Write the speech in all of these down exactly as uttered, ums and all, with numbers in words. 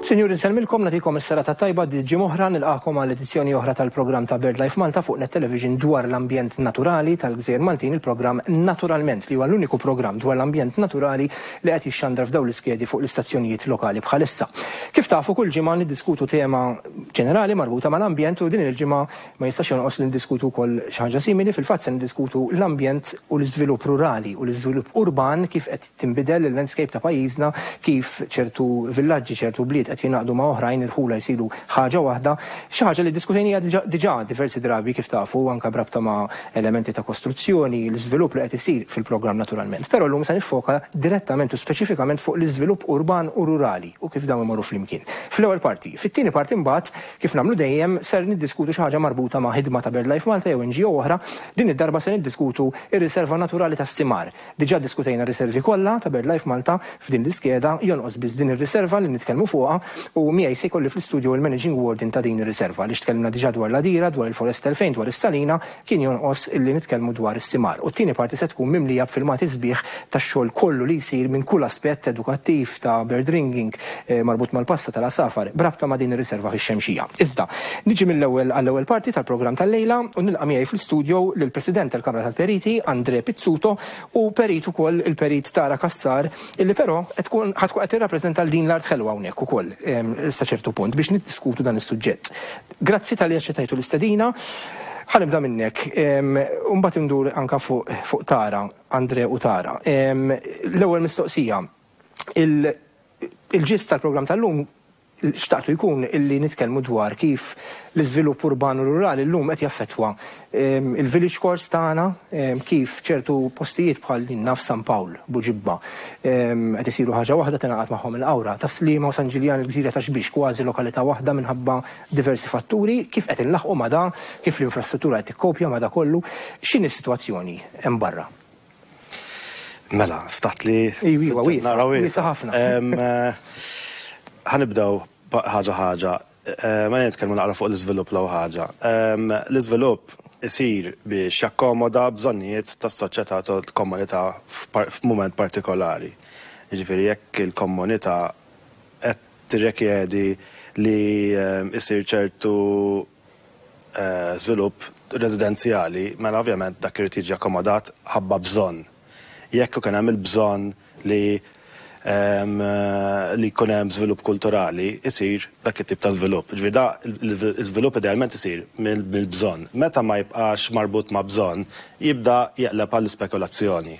Sinjuri, nsellmilkom, nagħtikom is-serata tajba. Ġimgħa oħra nilqakom għal edizzjoni oħra tal-programm ta' BirdLife Malta fuq Net Television dwar l-ambjent naturali tal-Gżejjer Maltin, il-programm Naturalment, li huwa l-uniku programm dwar l-ambjent naturali li qed jixxandar f'dawn l-iskedi fuq l-istazzjonijiet lokali bħalissa. Kif tafu, kull ġimgħa niddiskutu tema ġenerali marbuta mal-ambjent u din il-ġimgħa ma jistax jonqos li ndiskutu wkoll xi ħaġa simili. Fil-fatt se niddiskutu l-ambjent u l-iżvilupp rurali u l-iżvilupp urban, kif qed tinbidel il-landscape ta' pajjiżna, kif ċertu villaġġi, ċertu bliet qed jingħaqdu ma' oħrajn, irħula jsiru ħaġa waħda, xi ħaġa li diskutejnija diġà diversi drabi, kif tafu, anke b'rabta ma' elementi ta' kostruzzjoni, l-iżvilupp li qed isir fil-programm Naturalment. Però llum se niffoka direttament u speċifikament fuq l-iżvilupp urban u rurali u kif dawn imorru flimkien. Fl-ewwel parti. Fit-tieni parti mbagħad, kif nagħmlu dejjem, ser niddiskutu xi ħaġa marbuta ma' ħidma ta' BirdLife Malta jew N G O oħra. Din id-darba se niddiskutu ir-riserva naturali tas-Simar. Diġà diskutejna riservi kollha ta' BirdLife Malta f'din l-iskeda, jonqos biss din ir-riserva li nitkellmu fuqha u miegħi se jkolli fl-istudio il-Managing Warden ta' din ir-riserva, li tkellimna diġà dwar l-Għadira, dwar il-Forest elfejn, dwar is-Salina, kien jonqos illi nitkellmu dwar is-Simar. U t-tieni parti se tkun mimlija b'filmati sbieħ tax-xogħol kollu li jsir minn kull aspett edukattiv ta' bird ringing eh, marbut mal-passa tal-għasafar b'rabta ma' din ir-riserva fix-Xemxija. Iżda, niġi mill-ewwel għall-ewwel parti tal-programm tal-lejla u nilqa' miegħi fl-istudio lill-President tal-Kamra tal-Periti, Andre Pizzuto, u perit ukoll, il-perit Tara Cassar, illi però qed tkun ħa tkun qed tirrappreżenta l din l-art ħelwa hawnhekk ukoll sa ċertu punt biex niddiskutu dan is-suġġett. Grazzi talli aċċettajtu l-istedina. Ħa nibda minnek, u mbagħad indur anka fuq fuq Tara, Andre u Tara. L-ewwel mistoqsija, il-gist tal-programm tal-lum xtaqtu jkun illi nitkellmu dwar kif l-iżvilupp urban u rurali llum qed jaffettwa il-village cores tagħna, kif ċertu postijiet bħal naf San Pawl, Buġibba, qed isiru ħaġa waħda, tingħaqad magħhom il-Qawra, Tas-Sliema u San Ġiljan, il-Gżira ta' Xbiex kważi lokalità waħda minħabba diversi fatturi, kif qed inlaħqu ma' da, kif l-infrastruttura qed tikkopja ma' da kollu, x'inhi s-sitwazzjoni hemm barra? Mela, ftaħt li. Iwa, wiesa ħafna. Ħa nibdew ħaġa ħaġa. Ma nitkellmu naqra fuq l-iżvilupp l ħaġa. L-iżvilupp isir biex jakkomoda bżonnijiet tas-soċjetà, tal-komunità f'mument partikolari. Jiġifieri jekk il-komunità qed tirrikjedi li isir ċertu żvilupp residenzjali, mela ovvjament dak irid jiġi akkomodat ħabba bżonn. Jekk ikun hemm il-bżonn li li jkun hemm żvilupp kulturali, isir dak it-tip ta' żvilupp. Ġifieri da l-iżvilupp idealment isir mill-bżonn. Meta ma jibqax marbut ma' bżonn, jibda jeqleb għall-ispekulazzjoni.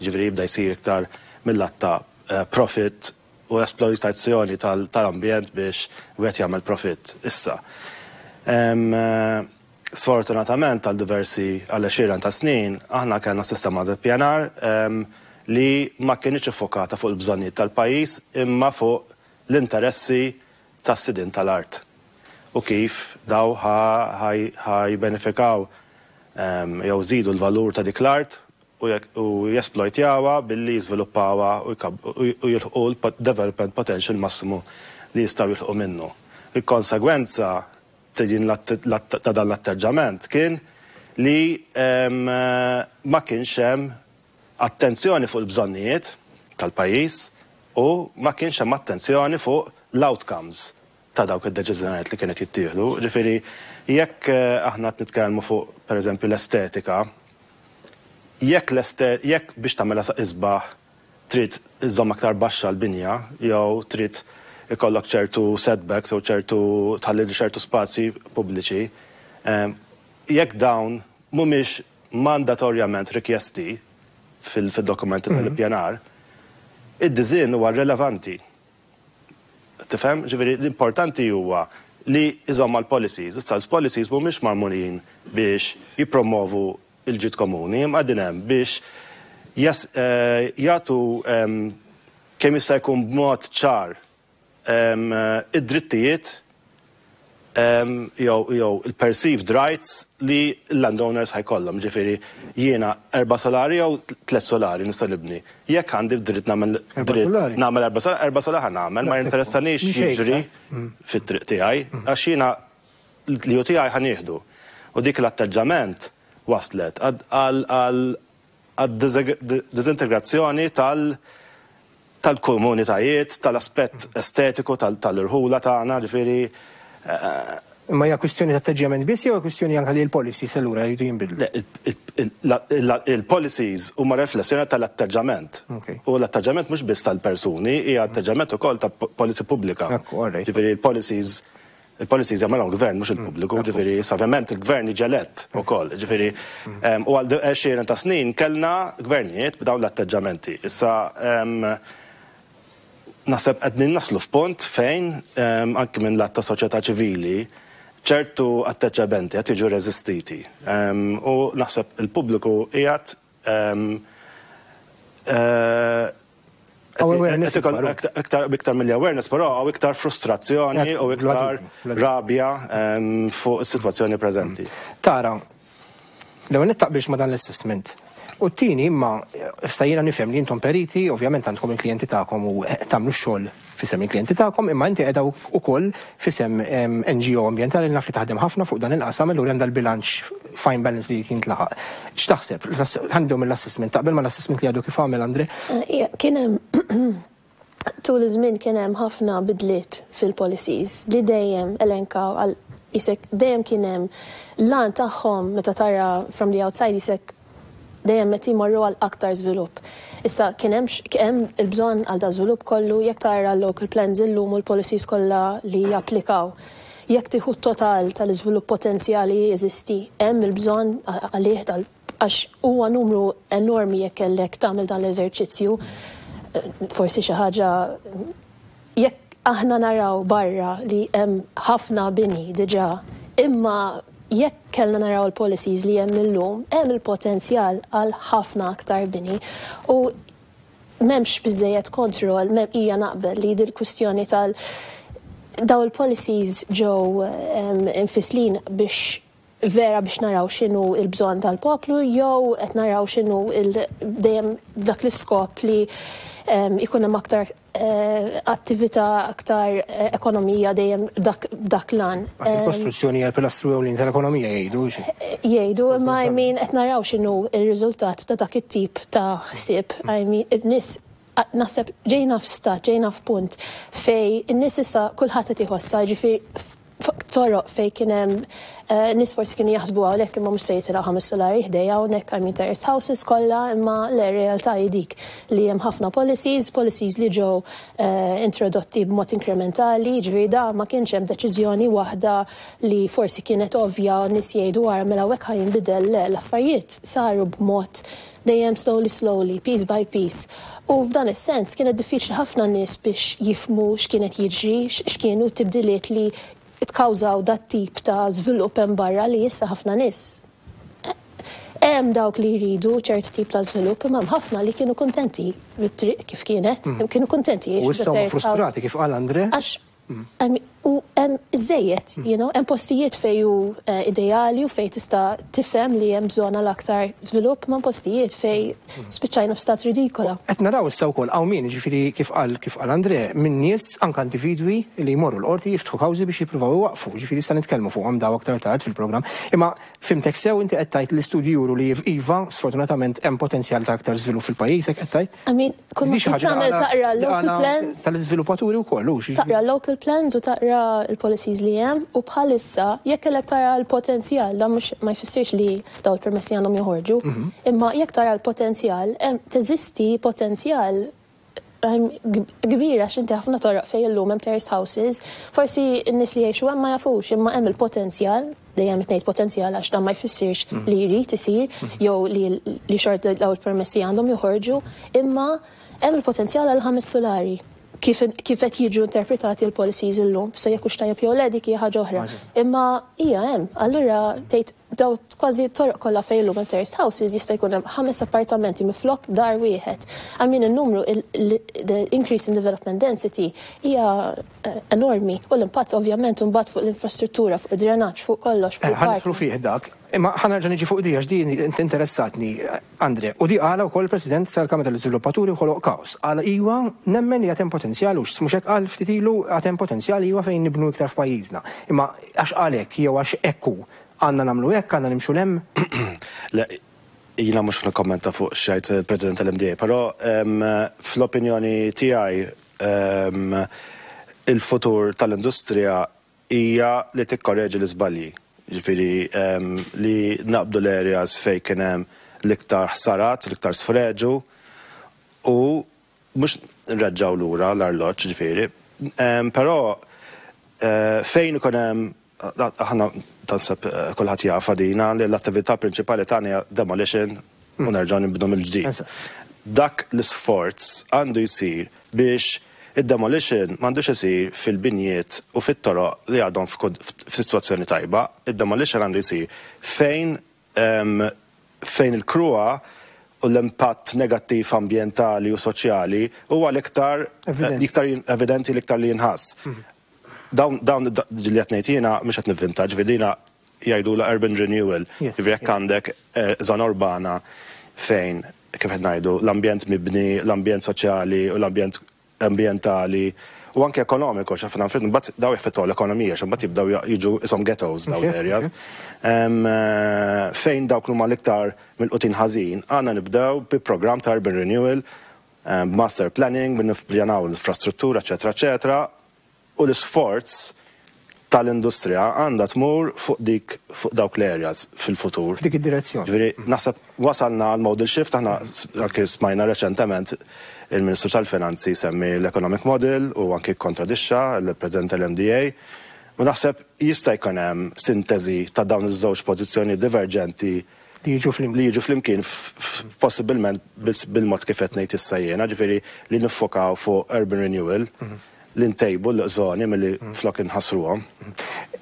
Ġifieri jibda jsir iktar mill-lat ta' profit u esploitazzjoni tal-ambjent biex wieħed jagħmel profit. Issa, sfortunatament għal diversi, għal għexieren ta' snin, aħna kellna sistema ta' pjanar li ma kienx iffokata fuq il-bżonnijiet tal-pajjiż imma fuq l-interessi tas-sidien tal-art u kif daw ħa jbenefikaw jew żidu l-valur ta' dik l-art u jesplojtjawha billi jiżviluppawha u jilħqu l-development potential massimu li jistgħu jilħqu minnu. Il-konsegwenza ta' dan l-atteġġament kien li ma kienx hemm attenzjoni fuq il-bżonnijiet tal-pajjiż u ma kienx hemm attenzjoni fuq l-outcomes ta' dawk id-deċiżjonijiet li kienet jittieħdu. Ġifieri jekk aħna qed nitkellmu fuq, pereżempju, l-estetika Jekk jekk biex tagħmilha isbaħ trid iżżomm aktar baxxa l-binja jew trid ikollok ċertu setbacks jew ċertu tħalli ċertu spazji pubbliċi, jekk dawn mhumiex mandatorjament rikjesti fil-dokumenti tal-ippjanar, id-design huwa relevanti. Tifhem? Ġifieri l-importanti huwa li iżomm l-policies. Issa l-policies mhumiex magħmulin biex jippromovu il-ġid komuni, imma qegħdin hemm biex jagħtu kemm jista' jkun b'mod ċar id-drittijiet jew il-perceived rights li l-landowners ħa jkollhom. Ġifieri jiena erba' solari jew tliet solari nista' nibni. Jekk għandi dritt nagħmel dritt nagħmel erba' solari, erba' solari ħa nagħmel, ma jinteressanix jiġri fit-triq tiegħi għax jiena li hu tiegħi ħa nieħdu. U dik l-atteġġament waslet għal disintegrazzjoni tal- tal-komunitajiet, tal-aspett estetiku tal-irħula tagħna, ġifieri. Imma hija kwistjoni ta' atteġġjament biss jew kwistjoni anke li l-policies allura jridu jinbidlu? Il-policies huma riflessjoni tal-atteġġament. U l-atteġġament mhux biss tal-persuni, hija atteġġament ukoll ta' policy pubblika. Ġifieri il-policies il-policies jagħmelhom gvern mhux il-pubbliku, ġifieri ovvjament il-gvern jiġi elett ukoll, ġifieri u għal għexieren ta' snin kellna gvernijiet b'dawn l-atteġġamenti. Issa naħseb qed naslu f'punt fejn anke minn lat ta' soċjetà ċivili ċertu atteġġamenti qed jiġu reżistiti. U naħseb il-pubbliku qiegħed eh, iktar iktar mill awareness, però hawn iktar frustrazzjoni u iktar rabja fuq is-sitwazzjoni preżenti. Tara, l-ewwel taqbilx ma dan l-assessment. U t-tieni, imma stajjina nifhem li intom periti, ovvjament għandkom il-klijenti tagħkom u tagħmlu x-xogħol f'isem il-klijenti tagħkom, imma inti qiegħda wkoll f'isem N G O ambjentali li naf li taħdem ħafna fuq dan il-qasam, allura hemm dal-bilanċ, fine balance li jintlaħaq. X'taħseb? Ħa nibdew mill-assessment. Taqbel ma l-assessment li għadu kif għamel Andre? Eh, kien hemm tul iż-żmien kien hemm ħafna bidliet fil-policies li dejjem elenkaw għal isek dejjem kien hemm l-għan tagħhom. Meta tara from the outside, isek dejjem meta jmorru għal aktar żvilupp. Issa kien hemm hemm il-bżonn għal da żvilupp kollu? Jekk tara local plans illum u l-policies kollha li japplikaw, jekk tieħu total tal-iżvilupp potenzjali jeżisti, hemm il-bżonn għalih? Għax huwa numru enormi jekk kellek tagħmel dan l-eżerċizzju. Forsi xi ħaġa, jekk aħna naraw barra li hemm ħafna bini diġà, imma jekk kellna naraw il-policies li hemm illum, hemm il-potenzjal għal ħafna aktar bini. U m'hemmx biżejjed kontroll, m'hemm hija naqbel li dil-kwistjoni tal daw il-policies ġew infislin biex vera biex naraw x'inhu il-bżonn tal-poplu jew qed naraw x'inhu dejjem dak l-iskop li ikun hemm aktar eh, attività, aktar eh, ekonomija, dejjem dak, dak l-għan. Il-kostruzzjoni hija l-pilastru ewlieni tal-ekonomija, jgħidu. Jgħidu, imma I mean qed naraw x'inhu il-riżultat ta' dak it-tip ta' ħsieb. I mean, in-nies naħseb ġejna f'stat, ġejna f'punt fej in-nies issa kulħadd qed iħossha, ġifieri toroq fej kien hemm eh, nies forsi kienu jaħsbu hawnhekk imma mhux se jitilgħu ħames solari ħdejja hawnhekk, I mean, terraced houses kollha, imma le, realtà hi dik li hemm ħafna policies, policies li ġew eh, introdotti b'mod inkrementali, ġifieri da ma kienx hemm deċiżjoni waħda li forsi kienet ovvja u nies jgħidu wara mela hekk ħa jinbidel. Le, l-affarijiet saru b'mod dejjem slowly slowly, piece by piece. U f'dan is-sens kienet diffiċli ħafna nies biex jifmu x'kienet jiġri, x'kienu t-tibdiliet li tkawżaw dat tip ta' żvilupp hemm barra li issa ħafna nies. Hemm dawk li jridu ċert tip ta' żvilupp, imma hemm ħafna li kienu kontenti bit-triq kif kienet, kienu kontenti U issa huma frustrati, kif qal Andre. Għax u hemm iżejjed, you know, hemm postijiet fej hu eh, ideali u fej tista' tifhem li hemm bżonn għal aktar żvilupp, ma' postijiet fej spiċċajna f'stat ridikola. Qed naraw issa wkoll hawn min, ġifieri kif qal kif qal Andre, minn nies, anke individwi li jmorru l-qorti, jiftħu kawżi biex jippruvaw iwaqfu, ġifieri issa nitkellmu fuqhom daw aktar tard fil-programm. Imma fhimtek sew, inti qed tgħid l-istudji juru li iva, sfortunatament hemm potenzjal ta' aktar żvilupp fil-pajjiż, hekk qed tgħid? I mean, kull ma Di xi ħaġa tagħmel li taqra għana- local plans, tal-iżviluppaturi wkoll, hux? Taqra local plans u taqra Tara l-policies li hemm u bħalissa jekk kellek tara l-potenzjal, dan mhux ma jfissirx li daw il-permessi għandhom joħorġu, imma jekk tara l-potenzjal, hemm teżisti potenzjal kbir għax inti ħafna toroq fejn illum hemm terrace houses, forsi n-nies li jgħixu hemm ma jafux, imma hemm il-potenzjal, dejjem qed ngħid potenzjal għax dan ma jfissirx li jrid isir jew li li xorta daw il-permessi għandhom joħorġu, imma hemm il-potenzjal għal ħames solari kif kif qed jiġu interpretati l-policies illum, so jekk hux tajjeb jew le, dik hija ħaġa oħra. Imma hija hemm, allura tgħid daw kważi toroq kollha fejn illum hemm terraced houses jista' jkun hemm ħames appartamenti miflok dar wieħed. I mean, in-numru, the increase in development density hija eh, enormi u l-impatt ovvjament imbagħad fuq l-infrastruttura, fuq id-drenaġġ, fuq kollox, fuq Eh, ħa nidħlu fih dak, imma ħa nerġa' niġi fuq di għax din interessatni, Andre, u di qala wkoll il-President tal-Kamra tal-Iżviluppaturi, ħoloq kaos. Qala iwa nemmen li għad hemm potenzjal u mhux hekk qal ftit ilu, għad hemm potenzjal iwa fejn nibnu iktar f'pajjiżna. Imma għax għalhekk jew għax ekku għandna nagħmlu hekk, għandna nimxu 'l hemm? Le, jiena mhux nikkommenta fuq x'jgħid il-President tal-M D A, però em, fl-opinjoni tiegħi em, il-futur tal-industrija hija li tikkorreġi l-iżbalji. Ġifieri em, li naqbdu l-areas fejn kien hemm l-iktar ħsarat, l-iktar sfreġu u mhux nreġġaw lura l-arloġġ ġifieri. Em, Però eh, fejn ikun hemm, aħna tanseb eh, kulħadd jafa dina li l-attività prinċipali tagħna hija demolition u nerġgħu nibnu mill-ġdid. Eżatt. Dak l-isforz għandu jsir biex id-demolition m'għandux isir fil-binjiet u fit-toroq li għadhom f'kod- f'sitwazzjoni tajba. Id-demolition għandu jsir fejn em, fejn il-kruha u l-impatt negattiv ambjentali u soċjali huwa l-iktar Evidenti. l-iktar evidenti, l-iktar li jinħass. Dawn dawn da- li qed ngħid jiena mhux qed nivvinta, ġifieri dina jgħidu la urban renewal. Yes, Ġifieri jekk għandek eh, żona urbana fejn, kif qed ngħidu, l-ambjent mibni, l-ambjent soċjali u l-ambjent ambjentali u anke ekonomiku, x'ħafna affarijiet mbagħad daw jaffettwaw l-ekonomija, x'mbagħad jibdew jiġu ishom ghettos daw Mhux hekk, l-areas. Em, eh, Fejn dawk huma l-iktar mill-qutin ħażin, għandna nibdew bi programm ta' urban renewal, em, master planning, bin nippjanaw l-infrastruttura, eċetera, eċetera, u l-isforz tal-industrija għandha tmur fuq dik fuq dawk l-areas fil-futur. F'dik id-direzzjoni. Ġifieri, naħseb wasalna għal model shift, aħna anke smajna reċentement il-Ministru tal-Finanzi semmi l-economic model u anke kontradixxa l-President tal-M D A. U naħseb jista' jkun hemm sintesi ta' dawn iż-żewġ pożizzjoni diverġenti li jiġu flimkien. Li jiġu flimkien f- f- possibilment bil- bil-mod kif qed ngħid issa jiena, ġifieri li niffokaw fuq urban renewal, li ntejbu l-żoni milli flok inħassruhom.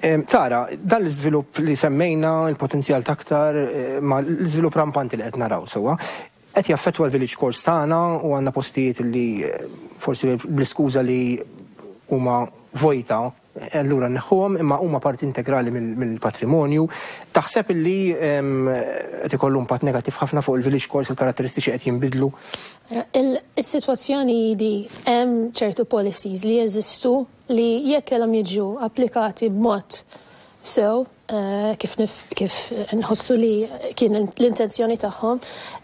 Em, Tara, dan l-iżvilupp li semmejna, il-potenzjal taktar, eh, ma l-iżvilupp rampanti li qed naraw sewwa, qed jaffettwa l-village cores tagħna u għandna postijiet li eh, forsi bl-iskuża li huma vojta, eh, allura nneħħuhom, imma huma parti integrali mill- mill-patrimonju. Taħseb li em, qed ikollu impatt negattiv ħafna fuq il-village cores, il-karatteristiċi qed jinbidlu? Il-situazzjoni di hemm ċertu policies li jeżistu li jekk kellhom jiġu applikati b'mod sew, eh, kif nif, kif nħossu li kien l-intenzjoni tagħhom,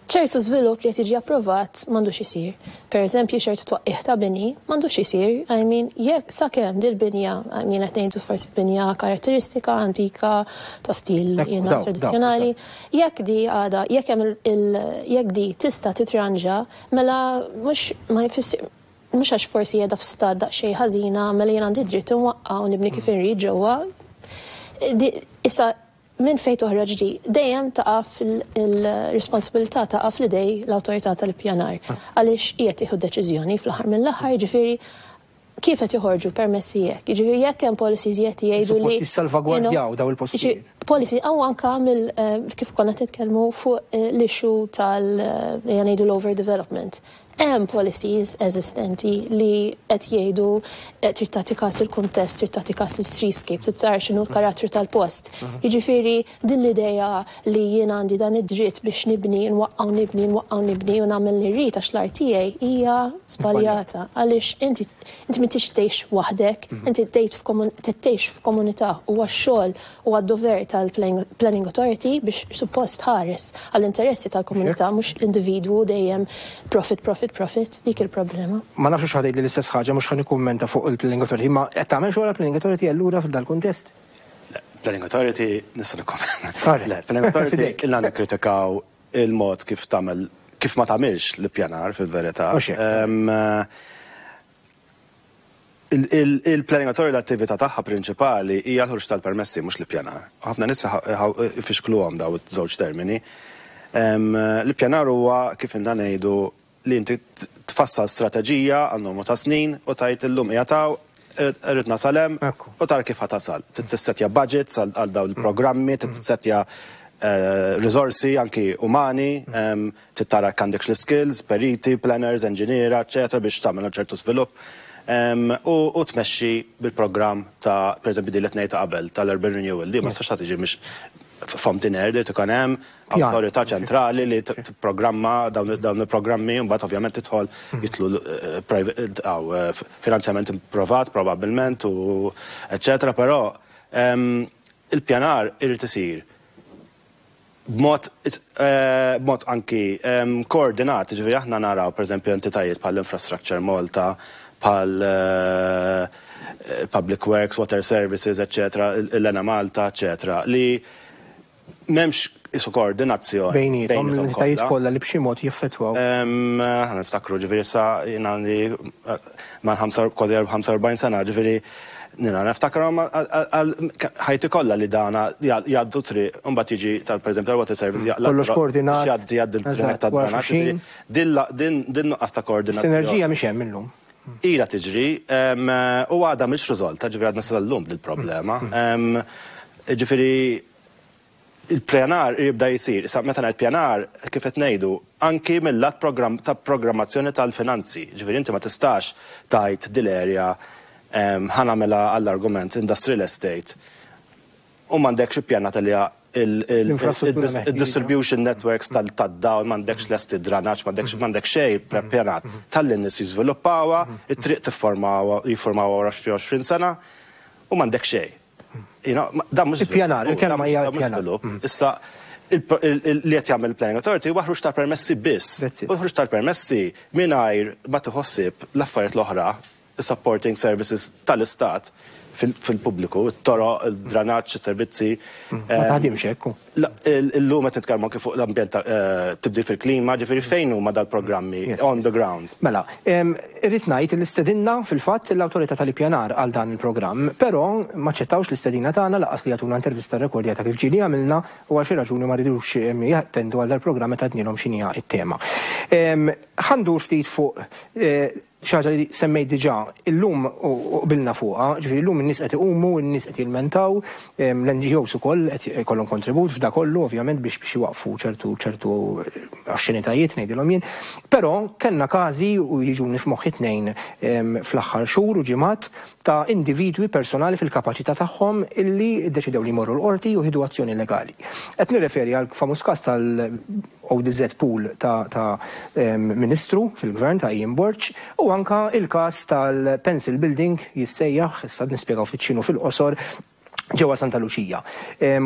ċertu żvilupp li qed jiġi approvat m'għandux isir. Per eżempju, ċertu twaqqih ta' bini m'għandux isir. I mean, jekk sakemm dil-binja, I mean, qed ngħidu forsi binja karatteristika antika ta' stil Ekku, jiena daw, daw, tradizzjonali, jekk di għada, jekk hemm il, jekk di tista' titranġa, mela mhux ma jfissir mhux għax forsi qiegħda f'stat daqsxejn ħażina, mela jien għandi dritt inwaqqa' u nibni kif inrid ġewwa. Di- Issa minn fejn toħroġ di, dejjem taqa' fil-responsabilità, taqa' fl-idej l-awtorità tal-ippjanar. Għaliex qiegħed tieħu deċiżjoni fl-aħħar mill-aħħar, ġifieri kif qed joħorġu permessi jekk. Jiġifieri jekk hemm policies qed jgħidu li Suppost jissalvagwardjaw daw il-postijiet. Jiġifieri, policy għaw anka mill eh, kif konna titkellmu fuq eh, l-issue tal eh, ngħidu l-overdevelopment. Hemm policies eżistenti li qed jgħidu eh, trid tagħti każ il-kuntest, trid tagħti każ il-streetscape, trid tara x'inhu l-karattru tal-post. Jiġifieri din l-idea li jien għandi dan id-dritt biex nibni, nwaqqaw nibni, nwaqqaw nibni u nagħmel li rrid għax l-art tiegħi hija żbaljata. Għaliex inti inti m'intix tgħix waħdek, inti tgħix f'komun- tgħix f'komunità u għax-xogħol u għad-dover tal-Planning Authority biex suppost ħares għall-interessi tal-komunità, mhux l-individwu dejjem profit, profit, profit, profit, dik il-problema. Ma nafx ħa tgħid li l-istess ħaġa, mhux ħa nikkummenta fuq il-Planning Authority, ma qed tagħmel xogħol Planning Authority allura f'dal kuntest? Planning Authority, nista' nikkommenta. Le, Planning Authority ilna nikkritikaw il-mod kif tagħmel, kif ma tagħmilx l-ippjanar fil-verità. Il-Planning Authority, l-attività tagħha prinċipali hija l-ħruġ tal-permessi, mhux l-ippjanar. Ħafna nies ifixkluhom daw iż-żewġ termini. L-ippjanar huwa, kif ilna ngħidu, li inti tfassal strateġija għal numru ta' snin u tgħid illum qiegħed hawn, irrid nasal hemm, u tara kif ħa tasal. Tissettja budgets għal dawn il-programmi, tissettja risorsi anki umani, tara għandek l-skills, periti, planners, engineer, eccetera, biex tagħmel ċertu svilupp. U tmexxi bil-programm ta', per eżempju, din li tnejn ta' qabel tal-Urban Renewal, li ma tistax tiġi mhix from thin air, li tkun hemm awtorità ċentrali li tipprogramma dawn il-programmi, u mbagħad ovvjament tidħol jidħlu private finanzjament privat probabbilment u eccetera, però il-pjanar irid isir b'mod b'mod anki koordinat, ġifieri aħna naraw, pereżempju, entitajiet bħal Infrastructure Malta, bħal Public Works, Water Services, eccetera, l-Enemalta, eccetera, li m'hemmx isu koordinazzjoni. Bejniethom, l-entitajiet kollha li b'xi mod jiffettwaw. Ħa niftakru, ġifieri sa jiena għandi ma' kważi ħamsa u erbgħin sena, ġifieri nina niftakru għal ħajti kollha li dana jgħaddu triq, mbagħad jiġi tal, pereżempju, tal-Water Service. Kollox koordinat. Jgħaddi jgħaddi l-triq tad-dranaġġ. Din nuqqas ta' koordinazzjoni. Sinerġija mhix hemm illum. Ila tiġri u għadha mhix riżolta, ġifieri għadna sal-lum dil-problema. Ġifieri il-pjanar jibda jisir, issa meta ngħid pjanar, kif qed ngħidu, anki mill-lat ta' programmazzjoni tal-finanzi. Ġifieri inti ma tistax tgħid dil-area ħa nagħmilha, għall-argument, industrial estate u m'għandekx ippjanat li il-distribution networks tal-dawl, m'għandekx lesti dranaġġ, m'għandekx m'għandek xejn preppjanat. Tħalli n-nies jiżviluppawha, it-triq tifformawha, jiffurmawha wara xi għoxrin sena u m'għandek xejn. Dan mhux Ippjanar, il-kelma hija ippjanar. Issa li qed jagħmel Planning Authority huwa ħruġ tal-permessi biss. U ħruġ tal-permessi mingħajr ma tħossib l-affarijiet l-oħra, supporting services tal-istat fil-pubbliku, it-toroq, il-dranaġġ, servizzi. Ma taħdimx hekk. Illum qed nitkellmu anke fuq l-ambjent, tibdil fil-klima, ġifieri fejn huma dal-programmi on the ground? Mela, irrid ngħid li stedinna fil-fatt l-awtorità tal-ippjanar għal dan il-programm, però ma ċettawx l-istedina tagħna, lanqas li jagħtuna intervista rekordjata kif ġieli għamilna, u għal xi raġuni ma ridux jattendu għal dal-programm meta għednielhom x'inhija t-tema. Ħa ndur ftit fuq xi ħaġa li semmejt diġà illum u qbilna fuqha, ġifieri llum in-nies qed iqumu, in-nies qed jilmentaw, l-N G Os ukoll qed ikollhom kontribut f'da kollu ovvjament biex biex iwaqfu ċertu ċertu oxxenitajiet, ngħidilhom jien. Però kellna każi, u jiġuni f'moħħi tnejn fl-aħħar xhur u ġimgħat, ta' individwi personali fil-kapaċità tagħhom illi ddeċidew li jmorru l-qorti u ħidu azzjoni legali. Qed nirreferi għal famuż każ tal-O D Z Pool ta', ta ministru fil-gvern, ta' Ian Borg, u anka il-każ tal-Pencil Building jissejjaħ, issa nispjegaw ftit x'inhu fil-qosor, ġewwa Santa Luċija.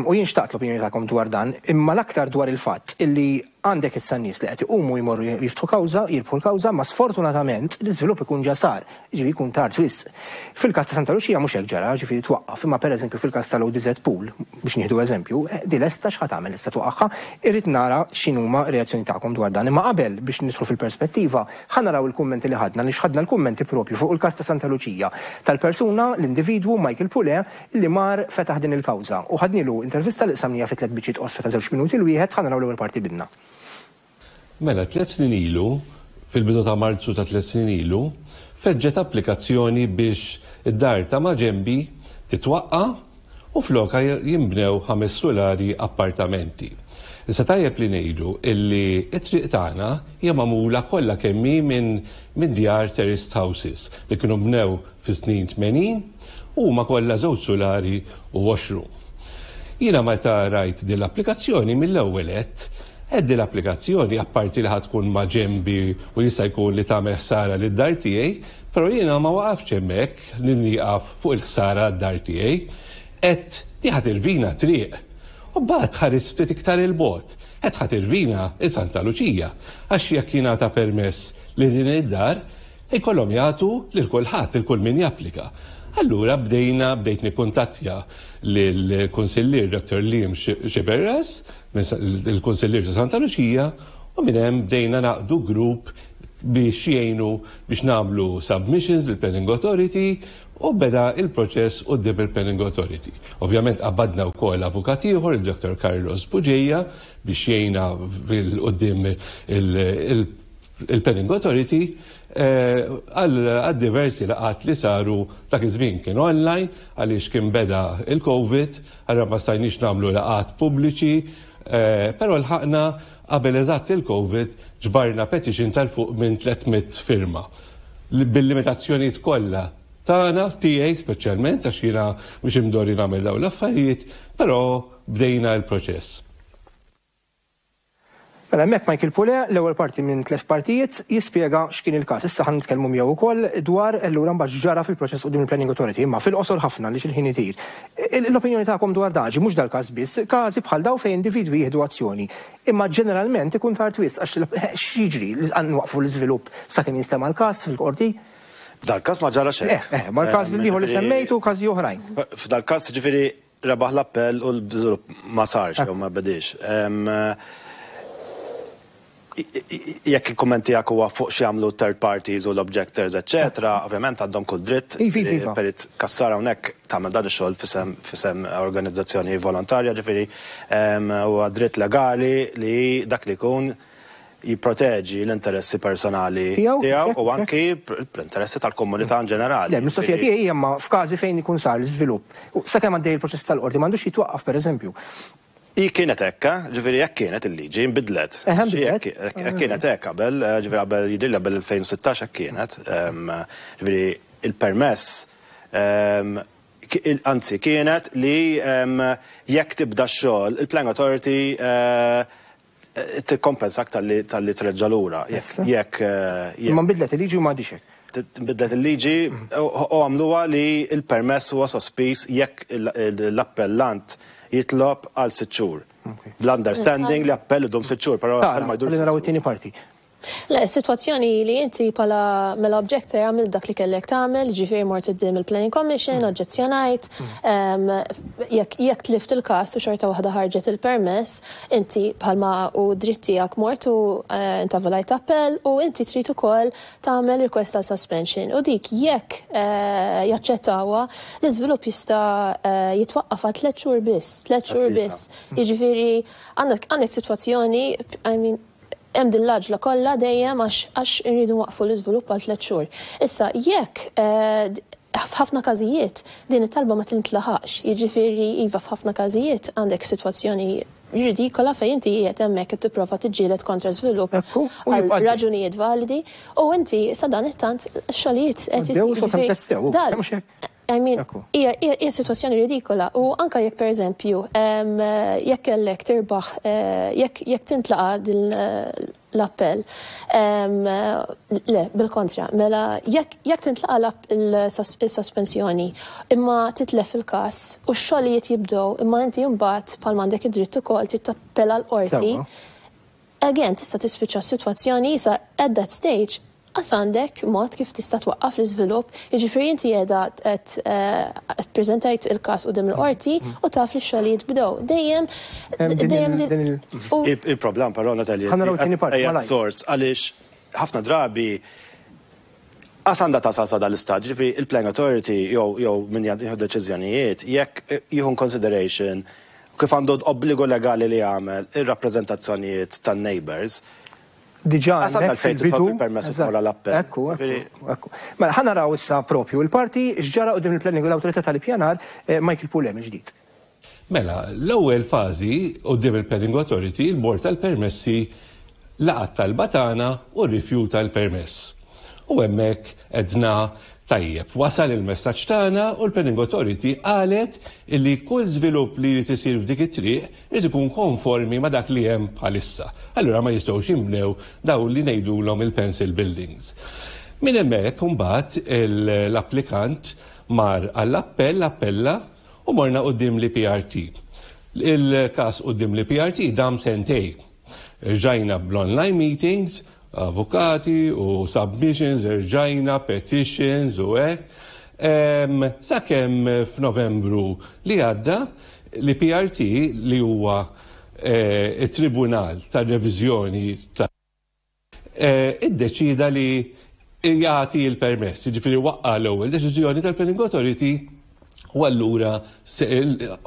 U jien xtaqt l-opinjoni tagħkom dwar dan, imma l-aktar dwar il-fatt illi għandek issa nies li qed iqumu, jmorru jiftħu kawża, jirbħu l-kawża, ma sfortunatament l-iżvilupp ikun ġa sar, ġifieri jkun tard wisq. Fil-każ ta' Santa Luċija mhux hekk ġara, ġifieri twaqqaf, imma pereżempju fil-każ tal-O D Z Pool, biex nieħdu eżempju, eh, di lesta, x'ħa tagħmel issa, twaqqagħha? Irrid nara x'inhuma reazzjoni tagħkom dwar dan. Imma qabel, biex nidħlu fil-perspettiva, ħa naraw il-kummenti li ħadna, li ħadna l-kummenti propju fuq il-każ ta' Santa Luċija tal-persuna, l-individwu Michael Pule, li mar fetaħ din il-kawża. U ħadnilu intervista li qsamnieha fi tliet biċċiet qosra ta' żewġ minuti l-wieħed. Ħa naraw l-ewwel parti bidna. Mela, tliet snin ilu, fil-bidu ta' Marzu ta' tliet snin ilu, feġġet applikazzjoni biex id-dar ta' maġenbi titwaqqa u floka jimbnew ħames sulari appartamenti. Issa tajjeb li ngħidu illi it-triq tagħna hija magħmula kollha kemm hi minn min djar terraced houses li kienu bnew fis-snin tmenin u huma kollha żewġ sulari u washroom. Jiena meta rajt din l-applikazzjoni, mill-ewwel għedt Eddi l-applikazzjoni, apparti li ħa tkun maġenbi u jista' jkun li tagħmel ħsara lid-dar tiegħi, però jiena ma waqafx hemmhekk li nieqaf fuq il-ħsara d-dar tiegħi. Għedt di ħa tirvina triq. U mbagħad ħares ftit iktar 'il bogħod. Qed ħa tirvina il-Santa Luċija, għax jekk jingħata permess li din id-dar, ikollhom jagħtu lil kulħadd, il kull min japplika. Allura bdejna bdejt nikkuntattja lill-Kunsillier Doctor Liam Sciberras, il-Kunsillier ta' Santa Luċija, u minn hemm bdejna naqdu grupp biex jgħinu biex nagħmlu submissions lill-Planning Authority u beda il-proċess quddiem il-Planning Authority. Ovvjament qabadna wkoll avukat ieħor, il-Doctor Carlos Bugeja, biex jgħinna quddiem il-Planning Authority eh, għal diversi laqgħat li saru. Dak iż-żmien kien online għaliex kien beda il-Covid, għarra ma stajniex nagħmlu laqgħat pubbliċi, eh, però lħaqna qabel eżatt il-Covid ġbarna petition tal fuq minn tliet mitt firma. Bil-limitazzjonijiet kollha tagħna, tiegħi speċjalment, għax jiena mhux imdorri nagħmel dawn l-affarijiet, però bdejna l-proċess. Mela hemmhekk Michael Pule, l-ewwel parti minn tliet partijiet, jispjega x'kien il-każ. Issa ħan nitkellmu miegħu wkoll dwar allura mbagħad ġara fil-proċess quddiem il-Planning Authority, imma fil-qosor ħafna li xil-ħin itir. L-opinjoni tagħkom dwar daġi, mhux dal-każ biss, każi bħal daw fejn individwi jieħdu azzjoni. Imma ġeneralment ikun tard wisq, għax x'jiġri, li nwaqfu l-iżvilupp sakemm jinstema' l-każ fil-qorti? F'dal-każ ma ġara xejn. Eh, eh, ma l-każ li li semmejtu, każi oħrajn. F'dal-każ, ġifieri, rebaħ l-appell u l-żvilupp ma sarx jew ma bedix. Jekk il-kumment tiegħek huwa fuq x'jagħmlu third parties u l-objectors, eċetera, ovvjament għandhom kull dritt. Iva, iva, iva. Perit Cassar hawnhekk tagħmel dan ix-xogħol f'isem f'isem organizzazzjoni volontarja, ġifieri huwa dritt legali li dak li jkun jipproteġi l-interessi personali tiegħu u anki l-interessi tal-komunità in ġenerali. Le, mistoqsija tiegħi hija ma f'każi fejn ikun sar l-iżvilupp. Sakemm għaddej il-proċess tal-qorti, m'għandux jitwaqqaf, pereżempju? I kienet hekk, ġifieri jekk kienet il-liġi, nbidlet. Eħe, nbidlet. Jekk kienet hekk qabel, ġifieri qabel, jidhirli qabel elfejn u sittax hekk kienet, ġifieri il-permess, anzi kienet li jekk tibda x-xogħol, il-Planning Authority tikkompensak talli treġġa' lura. Jekk. Imma nbidlet il-liġi u m'għadix hekk. Bidlet il-liġi u għamluha li il-permess huwa sospiż jekk l-appellant jitlob għal sitt xhur. L-understanding li appell idum sitt xhur, però appell ma jdurx. Naraw it-tieni parti. Le, situazzjoni li inti pala mela objector għamil dak li kellek tagħmel, ġifieri mort quddiem il-Planning Commission, oġġezzjonajt, jekk jekk tlift il-każ u xorta waħda ħarġet il-permess, inti bħalma u dritt tiegħek mort u eh, intavolajt appell u inti trid ukoll tagħmel request ta' suspension. U dik jekk eh, jaċċettawha, l-iżvilupp jista' eh, jitwaqqaf għal tliet xhur biss, tliet xhur biss. Jiġifieri għandek għandek sitwazzjoni, I mean, hemm din l-għaġla kollha dejjem għax għax irridu waqfu l-iżvilupp għal tliet xhur. Issa jekk eh, f'ħafna każijiet din it-talba ma tintlaħax, jiġifieri iva, f'ħafna każijiet għandek sitwazzjoni ridikola fejn inti qiegħed hemmhekk qed tipprova tiġġieled kontra żvilupp Ekku, u għal jibqa' għaddej. Raġunijiet validi u inti sa dan it-tant xogħlijiet qed Għaddew isiru. sakemm testew, Dal- mhux hekk? I mean, Ekku. hija hija hija sitwazzjoni ridikola u anka jekk, pereżempju, em, jekk kellek tirbaħ, eh, jekk jekk tintlaqa din eh, l-appell, em, le, bil-kontra, mela jekk jekk tintlaqa l-app- il-sospensjoni imma titlef il-każ u x-xogħlijiet jibdew, imma inti mbagħad bħal m'għandek id-dritt ukoll trid tappella l-qorti. Sewwa. Again, tista' tispiċċa s-sitwazzjoni issa at that stage għas għandek mod kif tista' twaqqaf l-iżvilupp, jiġifieri inti qiegħda qed eh, ppreżentajt il-każ quddiem il-qorti u taf li x-xogħlijiet bdew. Dejjem Hemm din dejjem il- din il- u- Il- Il-problem però, Natalia, Ħa naraw it-tieni parti, ejja malajr. sors għaliex ħafna drabi għas għandha tasal sa dal-istadju, ġifieri il-Planning Authority jew jew min jieħu deċiżjonijiet, jekk jieħu consideration kif għandu obbligu legali li jagħmel ir-rappreżentazzjonijiet tan-neighbors, Diġà Għas għandna hemmhekk l-fejn fil-bidu. titlob il-permess Eżatt. tmur għall-appell. Ekku, ekku, Ġifieri- ekku. Mela ħa naraw issa propju il-parti x'ġara quddiem il-Planning, l-Awtorità tal-Ippjanar, eh, Michael Pule mill-ġdid. Mela, l-ewwel fażi quddiem il-Planning Authority, il-Bord tal-Permessi laqat talba tagħna u rrifjuta l-permess. U hemmhekk għedna tajjeb, wasal il-messaġġ tagħna u l-Planning Authority qalet illi kull żvilupp li jrid isir f'dik it-triq irid ikun konformi ma' dak li hemm bħalissa. Allura ma jistgħux jinbnew dawn li ngħidulhom il-pencil buildings. Minn hemmhekk imbagħad l-applikant mar għall-appell, appella u morna quddiem l-E P R T. Il-każ quddiem l-E P R T dam sentej. Rġajna bl-online meetings, avukati u submissions, rġajna petitions u hekk. Sakemm f'Novembru li għadda, l-E P R T, li huwa eh, it-Tribunal tar-Reviżjoni ta' eh, iddeċida li jagħti l-permess, ġifieri waqqa l-ewwel deċiżjoni tal-Planning Authority u allura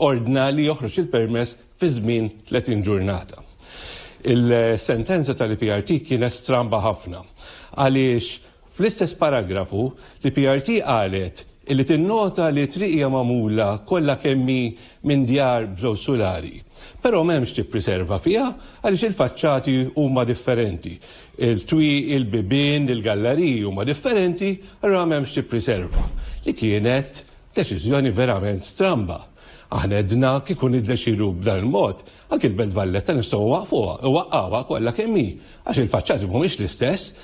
ordna li joħroġ il-permess fi żmien tletin ġurnata. Il-sentenza tal-E P R T kienet stramba ħafna għaliex fl-istess paragrafu l-E P R T qalet illi tinnota li triq hija magħmula kollha kemm hi minn djar b'żewġ sulari. Però m'hemmx tippreserva fiha għaliex il-faċċati huma differenti. Il-twieqi, il-bibien, il-galleriji huma differenti, allura m'hemmx tippreserva. Li kienet deċiżjoni verament stramba. Aħna għedna kieku niddeċidu b'dan il-mod, anki l-Belt Valletta nistgħu waqfuha, waqqawha kollha kemm hi, għax il-faċċati mhumiex l-istess,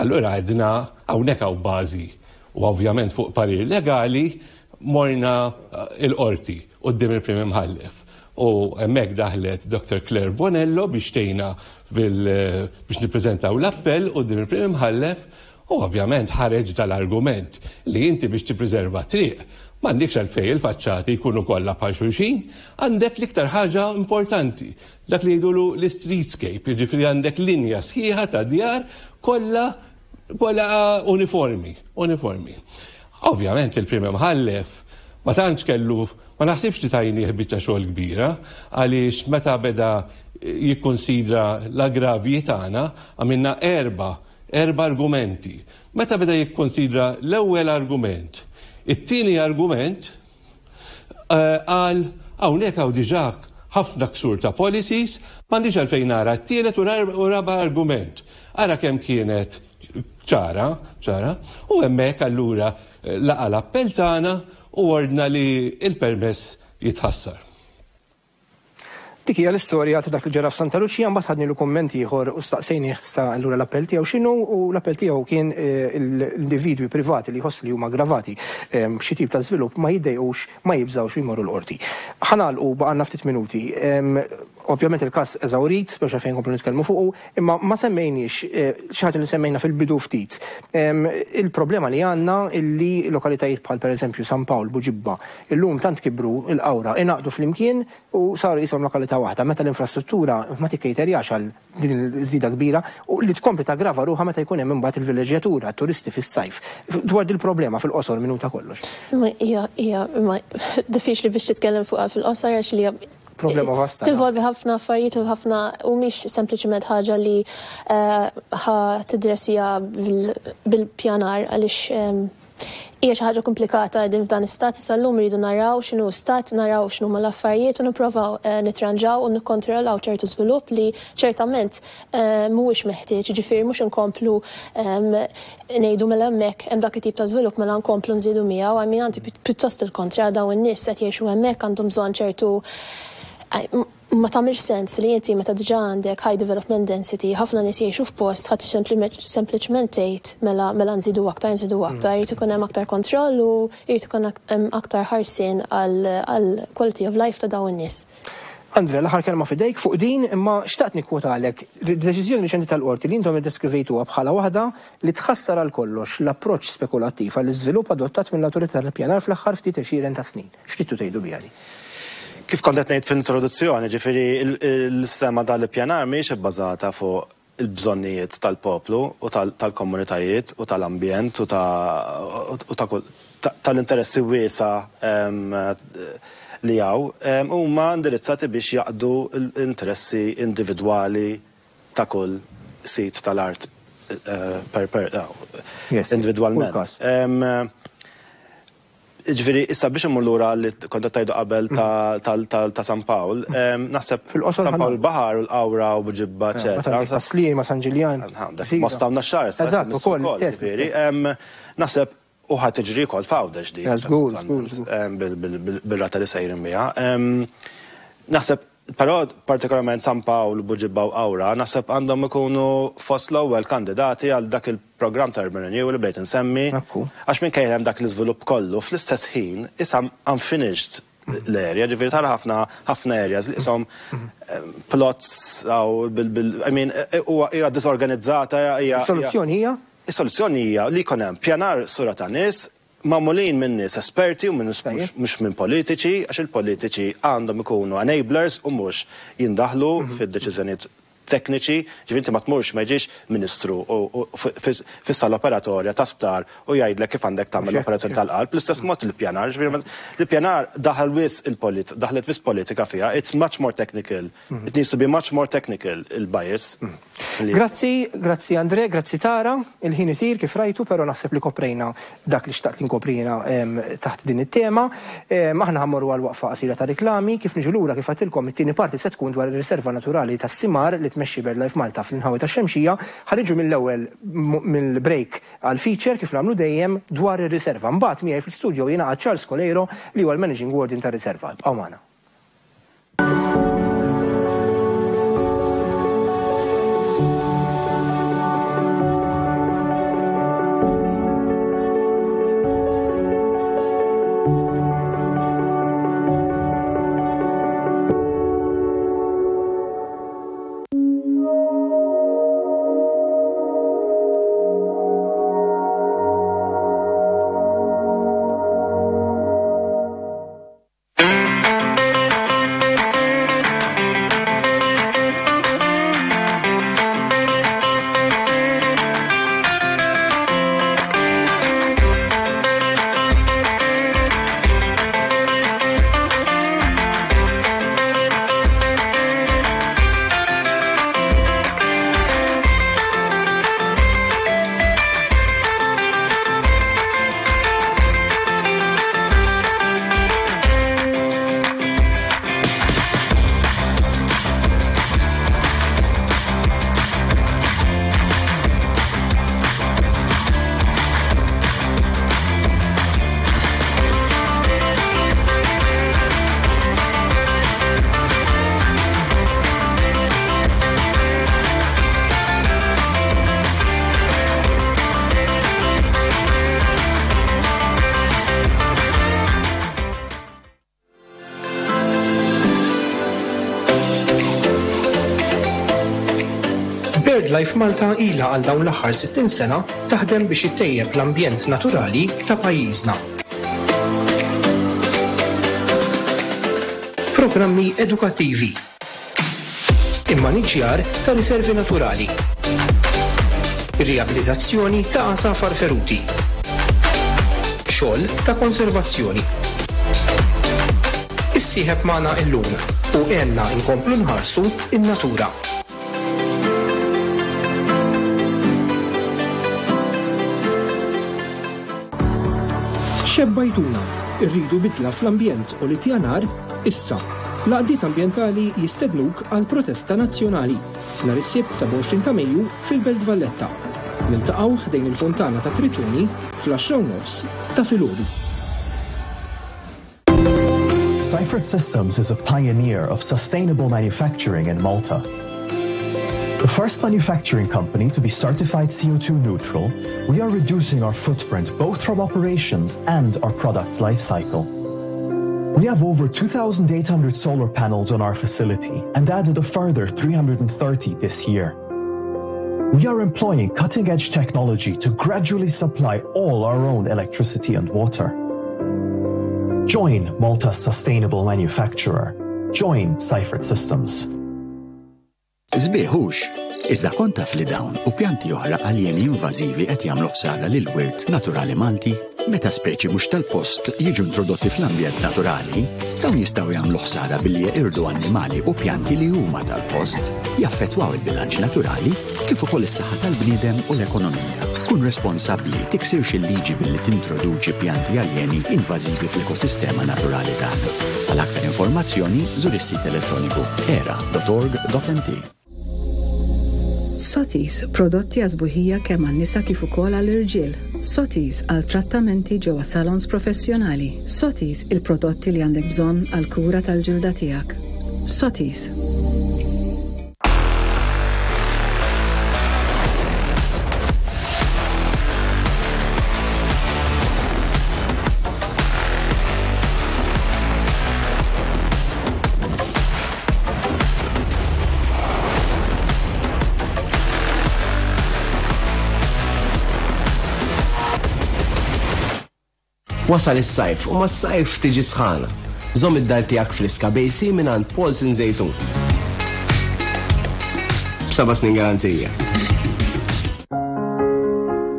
allura għedna hawnhekk hawn bażi. U ovvjament fuq parir legali morna eh, il-qorti quddiem il-Prim Imħallef. U hemmhekk daħlet Doctor Claire Bonello biex tgħinna biex nippreżentaw l-appell quddiem il-Prim Imħallef u ovvjament ħareġ dal-argument li inti biex tippreserva triq m'għandekx għalfejn il-faċċati jkunu kollha bħal xulxin, għandek l-iktar ħaġa importanti, dak li jgħidulu l-streetscape, jiġifieri għandek linja sħiħa ta' djar kollha kollha uniformi, uniformi. Ovvjament il-Prim Imħallef ma tantx kellu, ma naħsibx li tajnieh biċċa xogħol kbira, għaliex meta beda jikkonsidra l-aggravji tagħna, għamilna erba' erba' argumenti. Meta beda jikkonsidra l-ewwel argument, it-tieni argument, qal hawnhekk hawn diġà ħafna ksur ta' policies, m'għandix għalfejn nara t-tielet u raba' argument. Ara kemm kienet ċara, ċara, u hemmhekk allura laqa l-appell tagħna u ordna li il-permess jitħassar. Dik hija l-istorja ta' dak li ġara f'Santa Luċija. Mbagħad ħadnilu kumment ieħor u staqsejnieh sa allura l-appell tiegħu x'inhu, u l-appell tiegħu kien eh, l-individwi privati li jħoss li huma gravati eh, b'xi tip ta' żvilupp ma jiddejqux, ma jibżgħux jmorru l-qorti. Ħa nagħlqu, baqgħalna ftit minuti. Ovvjament il-każ eżawrit, biex fejn komplu nitkellmu fuqu, imma ma semmejniex eh, xi ħaġa li semmejna fil-bidu ftit. Il-problema li għandna illi lokalitajiet bħal pereżempju San Pawl, Buġibba, illum tant kibru, il-Qawra, ingħaqdu flimkien u saru jisimhom lokalità waħda, meta l-infrastruttura ma tikkejterjax għal din il-żida kbira u li tkompli taggrava ruħha meta jkun hemm imbagħad il-villeġġjatura, turisti fis-sajf. Dwar dil-problema fil-qosor, minuta kollox. Hija hija diffiċli biex titkellem fuqha fil-qosor għax li problema vasta. Tinvolvi ħafna affarijiet u ħafna u mhix sempliċement ħaġa li eh, ħa tiddressja bil-pjanar għaliex hija xi ħaġa komplikata din f'dan istat. Issa llum iridu naraw x'inhu stat, naraw x'inhu l-affarijiet u nipprovaw eh, nitranġaw u nikkontrollaw ċertu żvilupp li ċertament eh, mhuwiex meħtieġ, ġifieri mhux inkomplu ngħidu mela hemmhekk hemm dak it-tip ta' żvilupp, mela nkomplu nżidu miegħu, għal min għandi pjuttost il-kontra, dawn in-nies qed jgħixu hemmhekk, għandhom bżonn ċertu, ma tagħmilx sens li inti meta diġà għandek high development density, ħafna nies jgħixu f'post, ħadd sempliċement tgħid mela mela nżidu aktar, nżidu aktar, jrid ikun hemm aktar kontroll u jrid ikun hemm aktar ħarsien għal quality of life ta' dawn in-nies. Andre, l-aħħar kelma fidejk fuq din, imma xtaqt nikkwotalek deċiżjoni riċenti tal-qorti li intom iddeskrivejtuha bħala waħda li tħassar għal kollox l-approċċ spekulattiv għall-iżvilupp adottat mill-awtorità tal-pjanar fl-aħħar ftit għexieren ta' snin. X'tridtu tgħidu biha di? Kif kont qed ngħid fl-introduzzjoni, ġifieri l-sistema tal-ippjanar mhijiex ibbażata fuq il-bżonnijiet tal-poplu u tal-komunitajiet u tal-ambjent u tal-interessi wiesa li hawn, huma indirizzati biex jaqdu l-interessi individwali ta' kull sit tal-art eh, per per individwalment. Ġifieri, issa biex immur lura li kont tajdu qabel ta' San Pawl, naħseb San Pawl Baħar u l-Qawra u Buġibba, eċetera. Ta' Sliema, San Ġiljan. Mosta u Naxxar. Eżatt, ukoll l-istess. Naħseb u ħa tiġri wkoll f'Għawdex di. Żgur, żgur. Bil-rata li sejrin biha. Naħseb, però partikolarment San Pawl, Buġibba u Qawra, naħseb għandhom ikunu fost l-ewwel kandidati għal dak il-programm ta' Urban Renewal li bdejt insemmi. Għax minn hemm dak l-iżvilupp kollu, fl-istess ħin, issa unfinished l-area, ġifieri tara ħafna ħafna areas li qishom plots aw bil bil I mean, huwa hija disorganizzata hija. Soluzzjoni hija? Is-soluzzjoni hija li jkun hemm pjanar sura ta' nies magħmulin minn nies esperti u minn mhux minn politiċi, għax il-politiċi għandhom ikunu enablers u mhux jindaħlu fid-deċiżjonijiet tekniċi, ġifieri inti ma tmurx, ma jiġix ministru fis-sala operatorja ta' sptar u jgħidlek kif għandek tagħmel l-operazzjoni tal-qalb. L-istess mod il-pjanar, ġifieri l-pjanar daħal wisq il-polit, daħlet wisq politika fiha, it's much more technical. It needs to be much more technical, il-bias. Grazzi, grazzi Andre, grazzi Tara, il-ħin itir kif rajtu, però naħseb li koprejna dak li xtaqt li nkoprina taħt din it-tema. Aħna ħa mmorru għal waqfa qasira ta' riklami, kif niġu lura kif għedtilkom it-tieni parti se tkun dwar ir-riserva naturali tas-Simar li tmexxi BirdLife Malta fl-inħawi tax-Xemxija. Ħa niġu mill-ewwel mill-break għal feature kif nagħmlu dejjem dwar ir-riserva. Mbagħad miegħi fl-studio jingħaqad Charles Coleiro li huwa l-Managing Warden tar-riserva. Ibqgħu magħna. BirdLife Malta ilha għal dawn l-aħħar sittin sena taħdem biex ittejjeb l-ambjent naturali ta' pajjiżna. Programmi edukattivi, immaniġjar ta' riservi naturali, riabilitazzjoni ta' għasafar feruti, xogħol ta' konservazzjoni. Issieħeb magħna illum u għenna nkomplu nħarsu in-natura. Xebbajtuna, irridu bidla fl-ambjent u l-ippjanar issa. L-għaqdiet ambjentali jistednuk għal protesta nazzjonali nhar is-Sibt sebgħa u għoxrin ta' Mejju fil-Belt Valletta. Niltaqgħu ħdejn il-Fontana ta' Tritoni fl-għaxra u nofs ta' filgħodu. Seifert Systems is a pioneer of sustainable manufacturing in Malta. The first manufacturing company to be certified C O two neutral, we are reducing our footprint both from operations and our product's life cycle. We have over two thousand eight hundred solar panels on our facility and added a further three hundred and thirty this year. We are employing cutting-edge technology to gradually supply all our own electricity and water. Join Malta's sustainable manufacturer. Join Seifert Systems. Sbieħ hux, iżda kont taf li dawn u pjanti oħra aljeni invażivi qed jagħmlu ħsara lil wirt naturali Malti? Meta speċi mhux tal-post jiġu introdotti fl-ambjent naturali, dawn jistgħu jagħmlu ħsara billi jeqirdu annimali u pjanti li huma tal-post, jaffettwaw il-bilanċ naturali kif ukoll is-saħħa tal-bniedem u l-ekonomija. Kun responsabbli, tiksirx il-liġi billi tintroduċi pjanti aljeni invażivi fl-ekosistema naturali tagħna. Għal aktar informazzjoni, żur is-sit elettroniku era dot org dot m t. Sotis, prodotti għażbuħija kemm għan-nisa kif ukoll għall-irġiel. Sotis għal trattamenti ġewwa salons professjonali. Sotis, il-prodotti li għandek bżonn għal kura tal-ġilda tiegħek. Sotis. Wasal is-sajf u mas-sajf tiġi sħana. Żomm id-dar tiegħek friska b'A C mingħand Paulson Żejtun. B'seba' snin garanzija.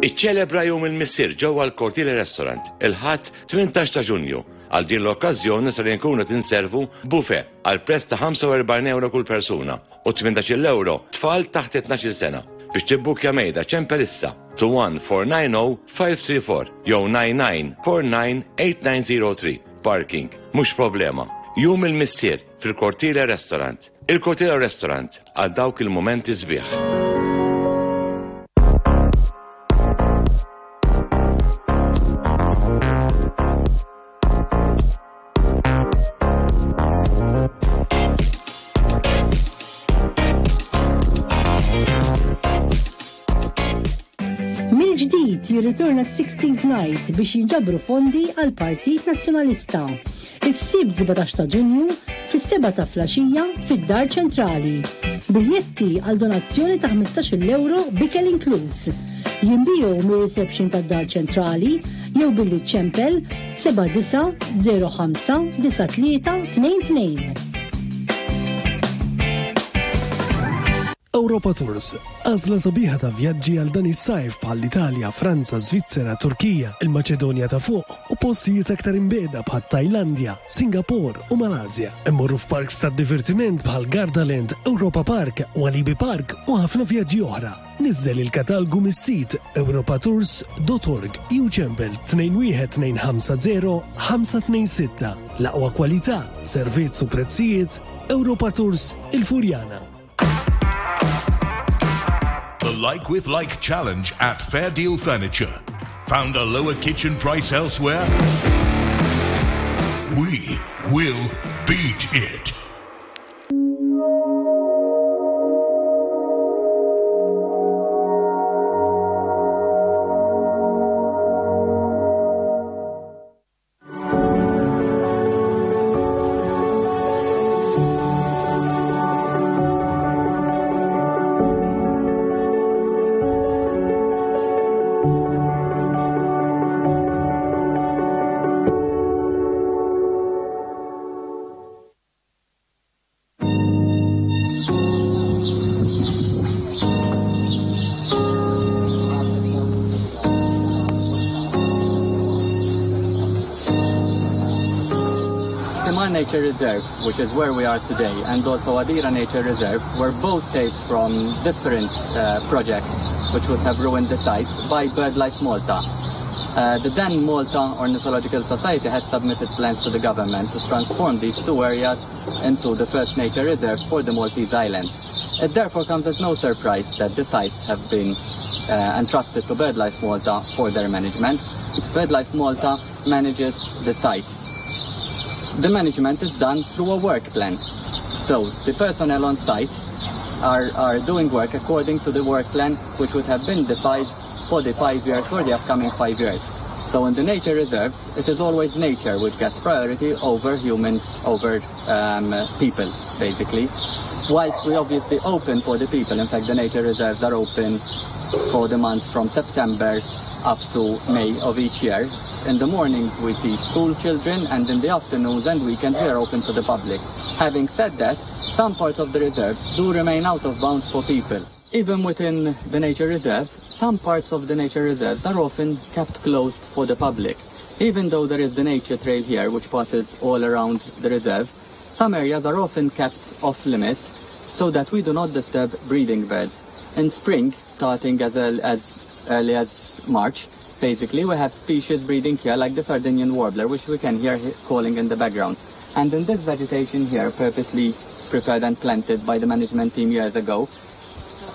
Iċċelebra Jum il-Missier ġewwa l-Cortile Restaurant il-Ħadd tmintax ta' Ġunju. Għal din l-okkażjoni ser inkunu tinservu buffet għal prezz ta' ħamsa u erbgħin euro kull persuna u tmintax-il euro tfal taħt tnax-il sena. Biex tibbukja mejda ċempel issa two one four nine zero five three four jew nine nine four nine eight nine zero three. Parking, mhux problema. Jum il-Missier fil-Cortile Restaurant. Il-Cortile Restaurant għal dawk il-momenti sbieħ. Mill-ġdid jirritorna sixties Night biex jinġabru fondi għal Partit Nazzjonalista. Is-Sibt sbatax ta' Ġunju fis-seba ta' filgħaxija fid-Dar Ċentrali. Biljetti għal donazzjoni ta' ħmistax-il euro b'ikel inkluż. Jinbiegħu mir-reception tad-Dar Ċentrali jew billi ċempel seba' disa' zero ħamsa disa' tlieta tnejn tnejn. Europa Tours, għażla sabiħa ta' vjaġġi għal dan is-sajf bħal l-Italja, Franza, Svizzera, Turkija, il-Maċedonja ta' fuq u postijiet aktar imbiegħda bħal Tajlandja, Singapore u Malasja. Immorru f'parks ta' divertiment bħal Gardaland, Europa Park, Walibi Park u ħafna vjaġġi oħra. Niżżel il-katalgu mis-sit europatours punt org jew ċempel tnejn wieħed tnejn ħamsa zero ħamsa tnejn sitta. L-aqwa kwalità, servizz u prezzijiet, Europa Tours il-Furjana. The Like with Like Challenge at Fair Deal Furniture. Found a lower kitchen price elsewhere? We will beat it. Simar Nature Reserve, which is where we are today, and also Għadira Nature Reserve, were both saved from different uh, projects which would have ruined the sites by BirdLife Malta. Uh, the then Malta Ornithological Society had submitted plans to the government to transform these two areas into the first nature reserves for the Maltese Islands. It therefore comes as no surprise that the sites have been uh, entrusted to BirdLife Malta for their management. BirdLife Malta manages the site. The management is done through a work plan. So the personnel on site are, are doing work according to the work plan which would have been devised for the five years, for the upcoming five years. So in the nature reserves, it is always nature which gets priority over human, over um, people, basically. Whilst we obviously open for the people, in fact the nature reserves are open for the months from September up to May of each year. In the mornings we see school children, and in the afternoons and weekends we are open to the public. Having said that, some parts of the reserves do remain out of bounds for people. Even within the nature reserve, some parts of the nature reserves are often kept closed for the public. Even though there is the nature trail here which passes all around the reserve, some areas are often kept off limits so that we do not disturb breeding birds. In spring, starting as, as early as March, basically we have species breeding here like the Sardinian warbler, which we can hear calling in the background. And in this vegetation here, purposely prepared and planted by the management team years ago,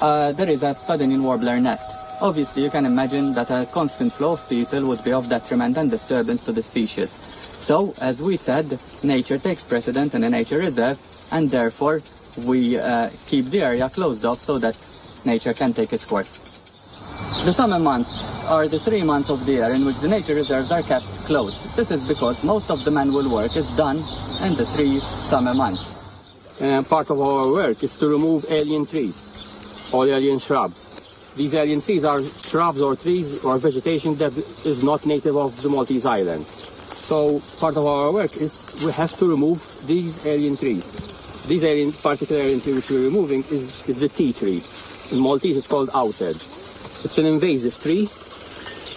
uh, there is a Sardinian warbler nest. Obviously, you can imagine that a constant flow of people would be of detriment and disturbance to the species. So, as we said, nature takes precedent in a nature reserve, and therefore we uh, keep the area closed off so that nature can take its course. The summer months are the three months of the year in which the nature reserves are kept closed. This is because most of the manual work is done in the three summer months. Uh, part of our work is to remove alien trees, all alien shrubs. These alien trees are shrubs or trees or vegetation that is not native of the Maltese Islands. So part of our work is we have to remove these alien trees. These alien, particular alien tree which we're removing is, is the tea tree. In Maltese it's called outage. It's an invasive tree.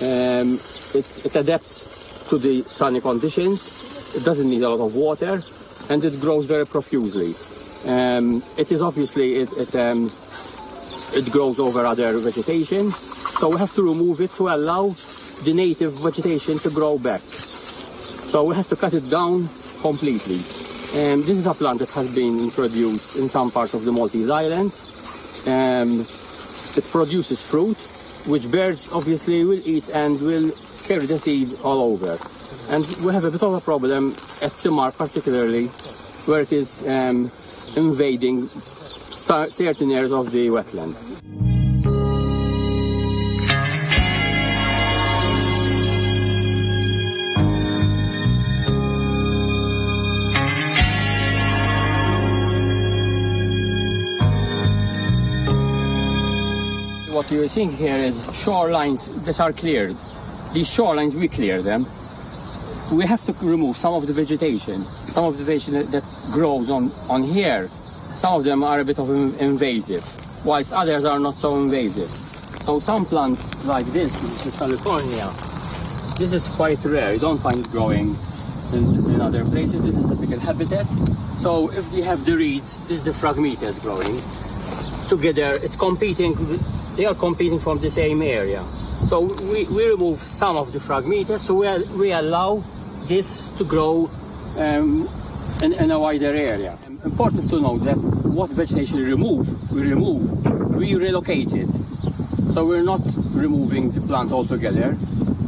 Um, it, it adapts to the sunny conditions. It doesn't need a lot of water, and it grows very profusely. Um, it is obviously, it, it, um, it grows over other vegetation, so we have to remove it to allow the native vegetation to grow back. So we have to cut it down completely. Um, this is a plant that has been introduced in some parts of the Maltese Islands. Um, it produces fruit, which birds obviously will eat and will carry the seed all over. And we have a bit of a problem at Simar particularly, where it is um, invading certain areas of the wetland. What you're seeing here is shorelines that are cleared. These shorelines, we clear them. We have to remove some of the vegetation, some of the vegetation that grows on, on here. Some of them are a bit of invasive, whilst others are not so invasive. So some plants like this, which is California, this is quite rare. You don't find it growing in, in other places. This is typical habitat. So if you have the reeds, this is the Phragmites growing. Together, it's competing. They are competing from the same area. So we, we remove some of the Phragmites, so we, we allow this to grow um, in, in a wider area. Important to note that what vegetation we remove, we remove, we relocate it. So we're not removing the plant altogether.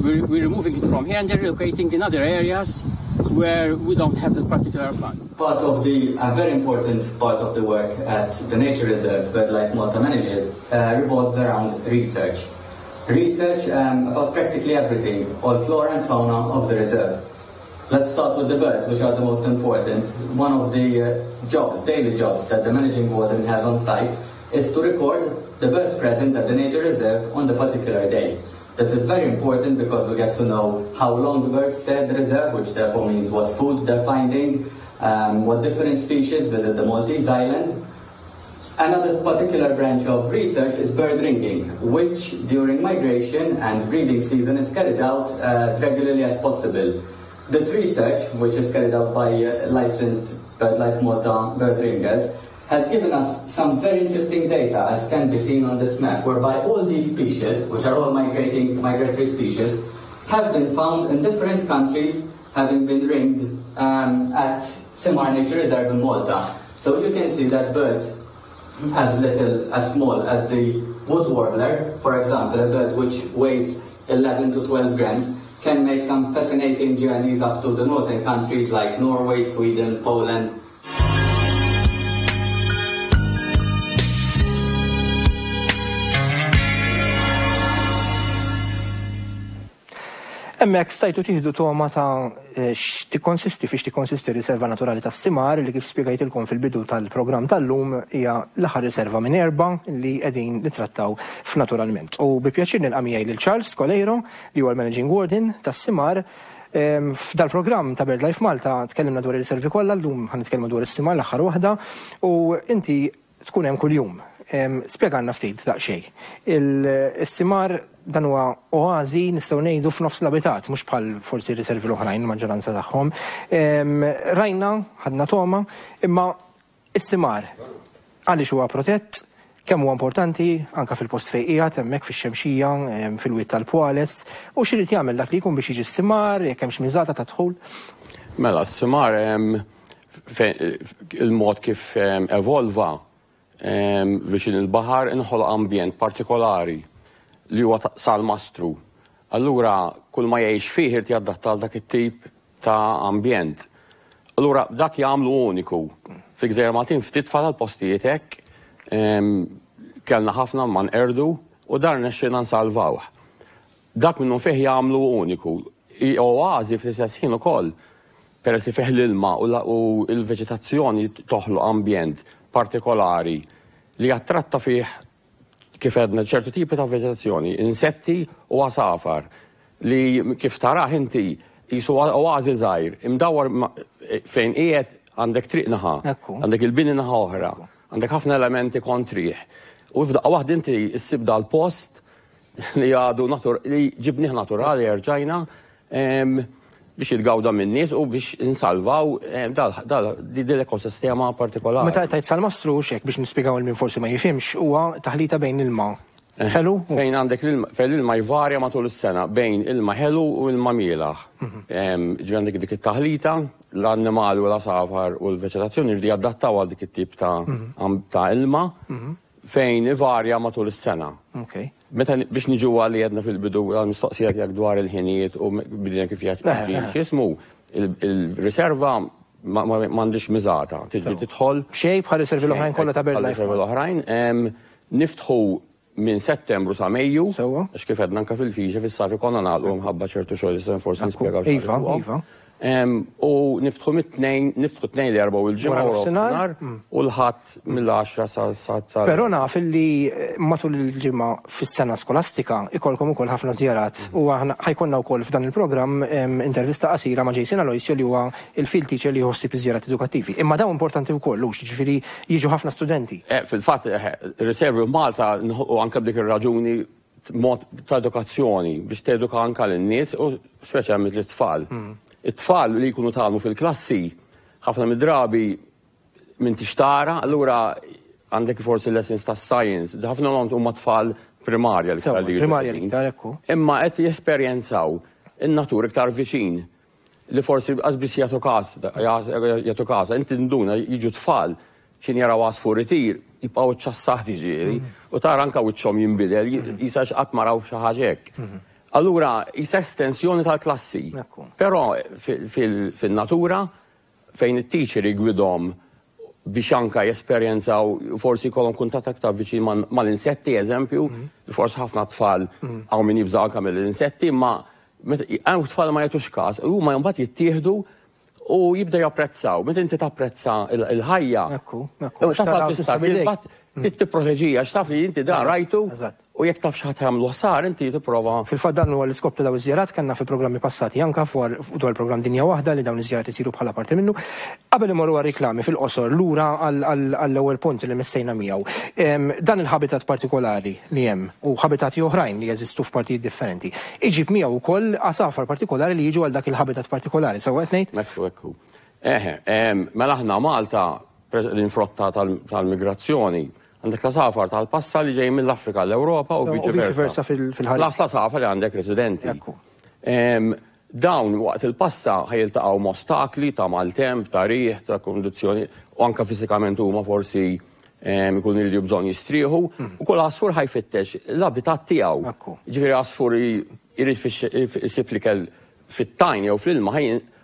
We're, we're removing it from here and then relocating in other areas where we don't have this particular plant. Part of the, a very important part of the work at the nature reserves BirdLife Malta manages uh, revolves around research. Research um, about practically everything, all flora and fauna of the reserve. Let's start with the birds, which are the most important. One of the uh, jobs, daily jobs, that the managing warden has on site is to record the birds present at the nature reserve on the particular day. This is very important because we get to know how long the birds stay at the reserve, which therefore means what food they're finding, um, what different species visit the Maltese Island. Another particular branch of research is bird ringing, which during migration and breeding season is carried out as regularly as possible. This research, which is carried out by uh, licensed BirdLife Malta bird ringers, has given us some very interesting data, as can be seen on this map, whereby all these species, which are all migrating migratory species, have been found in different countries, having been ringed um, at Simar Nature Reserve in Malta. So you can see that birds as little, as small as the wood warbler, for example, a bird which weighs eleven to twelve grams, can make some fascinating journeys up to the northern countries like Norway, Sweden, Poland. Hemmhekk stajtu tieħdu toma ta' x'tikkonsisti fiex tikkonsisti riserva naturali tas-Simar li kif spjegajtilkom fil-bidu tal-programm tal-lum hija l-aħħar riserva minn erba' li qegħdin nittrattaw f'Naturalment. U bi pjaċir nilqa' miegħi lil Charles Coleiro li huwa l-Managing Warden tas-Simar. F'dal-programm ta' BirdLife Malta tkellimna dwar ir-riservi kollha, llum ħa nitkellmu dwar is-Simar l-aħħar waħda u inti tkun hemm kuljum. Spjegalna ftit daqsxejn. Is-Simar dan huwa oażi nistgħu ngħidu f'nofs l-abitat, mhux bħal forsi riservi l-oħrajn maġġoranza tagħhom. Rajna, ħadna toma, imma is-Simar għaliex huwa protett, kemm huwa importanti anke fil-post fejn qiegħed hemmhekk fix-Xemxija, fil-wied tal-Pwales, u x'irid jagħmel dak li jkun biex jiġi s-Simar, jekk hemmx miżata ta' dħul. Mela, s-Simar il-mod kif evolva viċin il-baħar inħoloq ambjent partikolari li huwa salmastru. Allura kull ma jgħix fih irid jadatta għal dak it-tip ta' ambjent. Allura dak jagħmlu uniku. Fi Gżejjer Maltin ftit fadal postijiet hekk, kellna ħafna ma nqerdu u dar nexxina nsalvawh. Dak minnu fih jagħmlu uniku. Oażi fl-istess ħin ukoll, peress li fih l-ilma u l-veġetazzjoni toħloq ambjent partikolari li jattratta fih kif għedna ċertu tipi ta' veġetazzjoni, insetti u għasafar li kif tarah inti jisu oażi żgħir, imdawwar fejn qiegħed għandek triq naħa, għandek il-bini naħa oħra, għandek ħafna elementi kontrih. U f'daqqa waħda inti ssib dal-post li għadu li ġibnih naturali erġajna biex jitgawda minn nies u biex insalvaw din l-ekosistema partikolari. Meta tajt salmastru xek biex nispjegaw il min forsi ma jifhimx huwa taħlita bejn ilma ħelu fejn għandek l-ilma fejn l-ilma jvarja matul is-sena bejn ilma ħelu u ilma mielaħ. Ġifieri għandek dik it-taħlita, l-annimali u l-għasafar u l-veġetazzjoni jridu jadattaw għal dik it-tip ta' ilma fejn ivarja matul is-sena. Meta biex niġu għalli għedna fil-bidu għal-mistoqsija tiegħek dwar il-ħinijiet u bidina kif jgħid x'ismu, il-riserva m'għandix miżata, tiġi tidħol. Xejn bħal riservi l-oħrajn kollha ta' BirdLife. Riservi l-oħrajn niftħu minn Settembru sa Mejju, għax kif għedna anke fil-fiġa fis-sajf ikollna nagħlqu mħabba ċertu xogħol li forsi nispjegaw. Iva, iva. U niftħu mit-tnejn, niftħu tnejn li erba' u l-ġimgħa u nofsinhar u l-ħadd mill-għaxra sa sa. Però naf li matul il-ġimgħa fis-sena skolastika ikolkom ukoll ħafna żjarat u aħna ħajkonna wkoll f'dan il-programm intervista qasira ma' Jason Aloisio li huwa il-field teacher li jħossib iż-żjarat edukattivi. Imma dawn importanti wkoll hux, jiġifieri jiġu ħafna studenti. Fil-fatt riservi Malta u anke b'dik ir-raġuni mod ta' edukazzjoni biex teduka anke lin-nies u speċjalment lit-tfal. It-tfal li jkunu tgħallmu fil-klassi ħafna mid-drabi minn tixtara, allura għandek forsi lessons ta' science, ħafna l huma tfal primarja l-iktar li primarja l-iktar ekku. Imma qed jesperjenzaw in-natur iktar viċin li forsi qas jagħtu każ, jagħtu każ, inti nduna jiġu tfal x'in jaraw għasfur itir, jibqgħu ċċassati ġieli, u tara anke wiċċhom jinbidel, jisa x'qatt ma raw xi ħaġa hekk. Allura, jisa estensjoni tal-klassi. Però fil-natura, fejn it-teacher jgwidhom biex anka jesperjenzaw, forsi jkollhom kuntatt aktar viċin mal-insetti, eżempju, forsi ħafna tfal hawn min jibża' anka mill-insetti, ma hawn tfal ma jagħtux każ, huma mbagħad jittieħdu u jibda japprezzaw. Meta inti tapprezza il-ħajja, tasal fi tipproteġija, x'taf li inti dan rajtu u jekk taf x'ħadd jagħmlu ħsar inti tipprova. Fil-fatt dan huwa l-iskop ta' dawn iż-żjarat kellna fi programmi passati anke dwar il-programm Dinja Waħda li dawn iż-żjarat isiru bħala parti minnu. Qabel imorru għar-riklami fil-qosor lura għall-ewwel punt li missejna miegħu. Dan il-habitat partikolari li hemm u habitati oħrajn li jeżistu f'partijiet differenti. Iġib miegħu wkoll għasafar partikolari li jiġu għal dak il-habitat partikolari, sewwa qed ngħid? Ekku, ekku. Eħe, mela aħna Malta l-infrotta tal-migrazzjoni għandek la safar tal-passa li ġej mill-Afrika l-Ewropa u viċeversa fil-ħarir. Las la safar li għandek residenti. Dawn waqt il-passa ħajiltaqgħu ma' ostakli ta' maltemp, ta' riħ, ta' kondizzjoni u anke fiżikament huma forsi jkunu jridu bżonn jistrieħu u kull għasfur ħajfittex l-abitat tiegħu. Ġifieri għasfur jrid isib l-ikel fit-tajn jew fl-ilma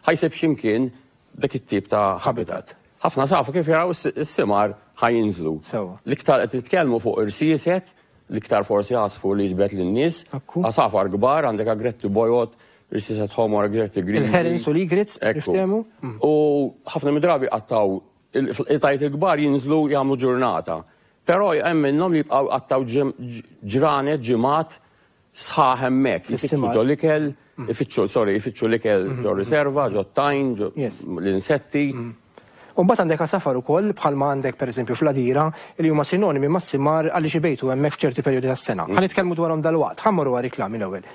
ħajsib x'imkien dak it-tip ta' habitat. Ħafna safu kif jaraw is-simar ħajinżlu. L-iktar qed nitkellmu fuq irsieset, l-iktar forsi għasfur li jiġbed lin-nies, għasafar kbar, għandek agretti bojod, irsieset ħomor, agretti griżi. Il-herons u l-egrets, niftehmu. U ħafna mid-drabi qattaw il-tajt il-kbar jinżlu jagħmlu ġurnata. Però hemm minnhom li jibqgħu qattaw ġranet, ġimgħat sħaħ hemmhekk, ifittxu ġo l-ikel, ifittxu, sorry, ifittxu l-ikel ġo riserva, ġo tajn, ġo l-insetti. U mbagħad għandek għasafar ukoll bħalma għandek pereżempju fl-Għadira li huma sinonimi mas-simar għaliex ibejtu hemmhekk f'ċerti perjodi tas-sena. Ħa nitkellmu dwarhom dalwaqt, ħa mmorru għar-riklami l-ewwel.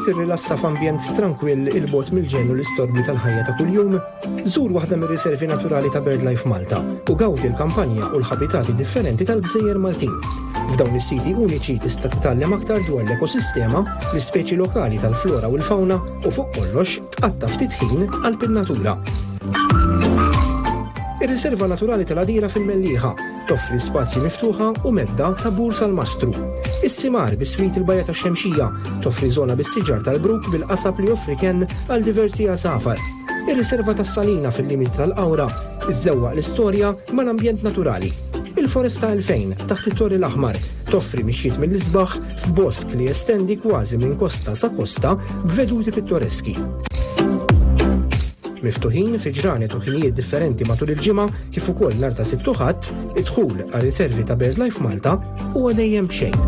Trid tirrilassa f'ambjent trankwill 'il bogħod mill-ġenn u l-istorbju tal-ħajja ta' kuljum? Żur waħda mir-riservi naturali ta' BirdLife Malta u gawdi l-kampanja u l-ħabitati differenti tal-Gżejjer Maltin. F'dawn is-siti uniċi tista' titgħallem aktar dwar l-ekosistema, l-ispeċi lokali tal-flora u l-fauna u fuq kollox tqatta' ftit ħin qalb in-natura. Ir-Riserva Naturali tal-Għadira fil-Mellieħa toffri spazji miftuħa u medda ta' bur salmastru. Is-Simar biswit il-Bajja tax-Xemxija toffri żona bis-siġar tal-bruk bil-qasab li joffri kenn għal diversi għasafar. Ir-Riserva tas-Salina fil-limiti tal-Qawra iżżewwaq l-istorja mal-ambjent naturali. Il-Foresta elfejn taħt it-Torri l-Aħmar toffri mixjiet mill-isbaħ f'bosk li jestendi kważi minn kosta sa kosta b'veduti pittoreski. Miftuħin fi ġranet u ħinijiet differenti matul il-ġimgħa kif ukoll nhar ta' Sibt u Ħadd, id-dħul għal riservi ta' BirdLife Malta huwa dejjem b'xejn.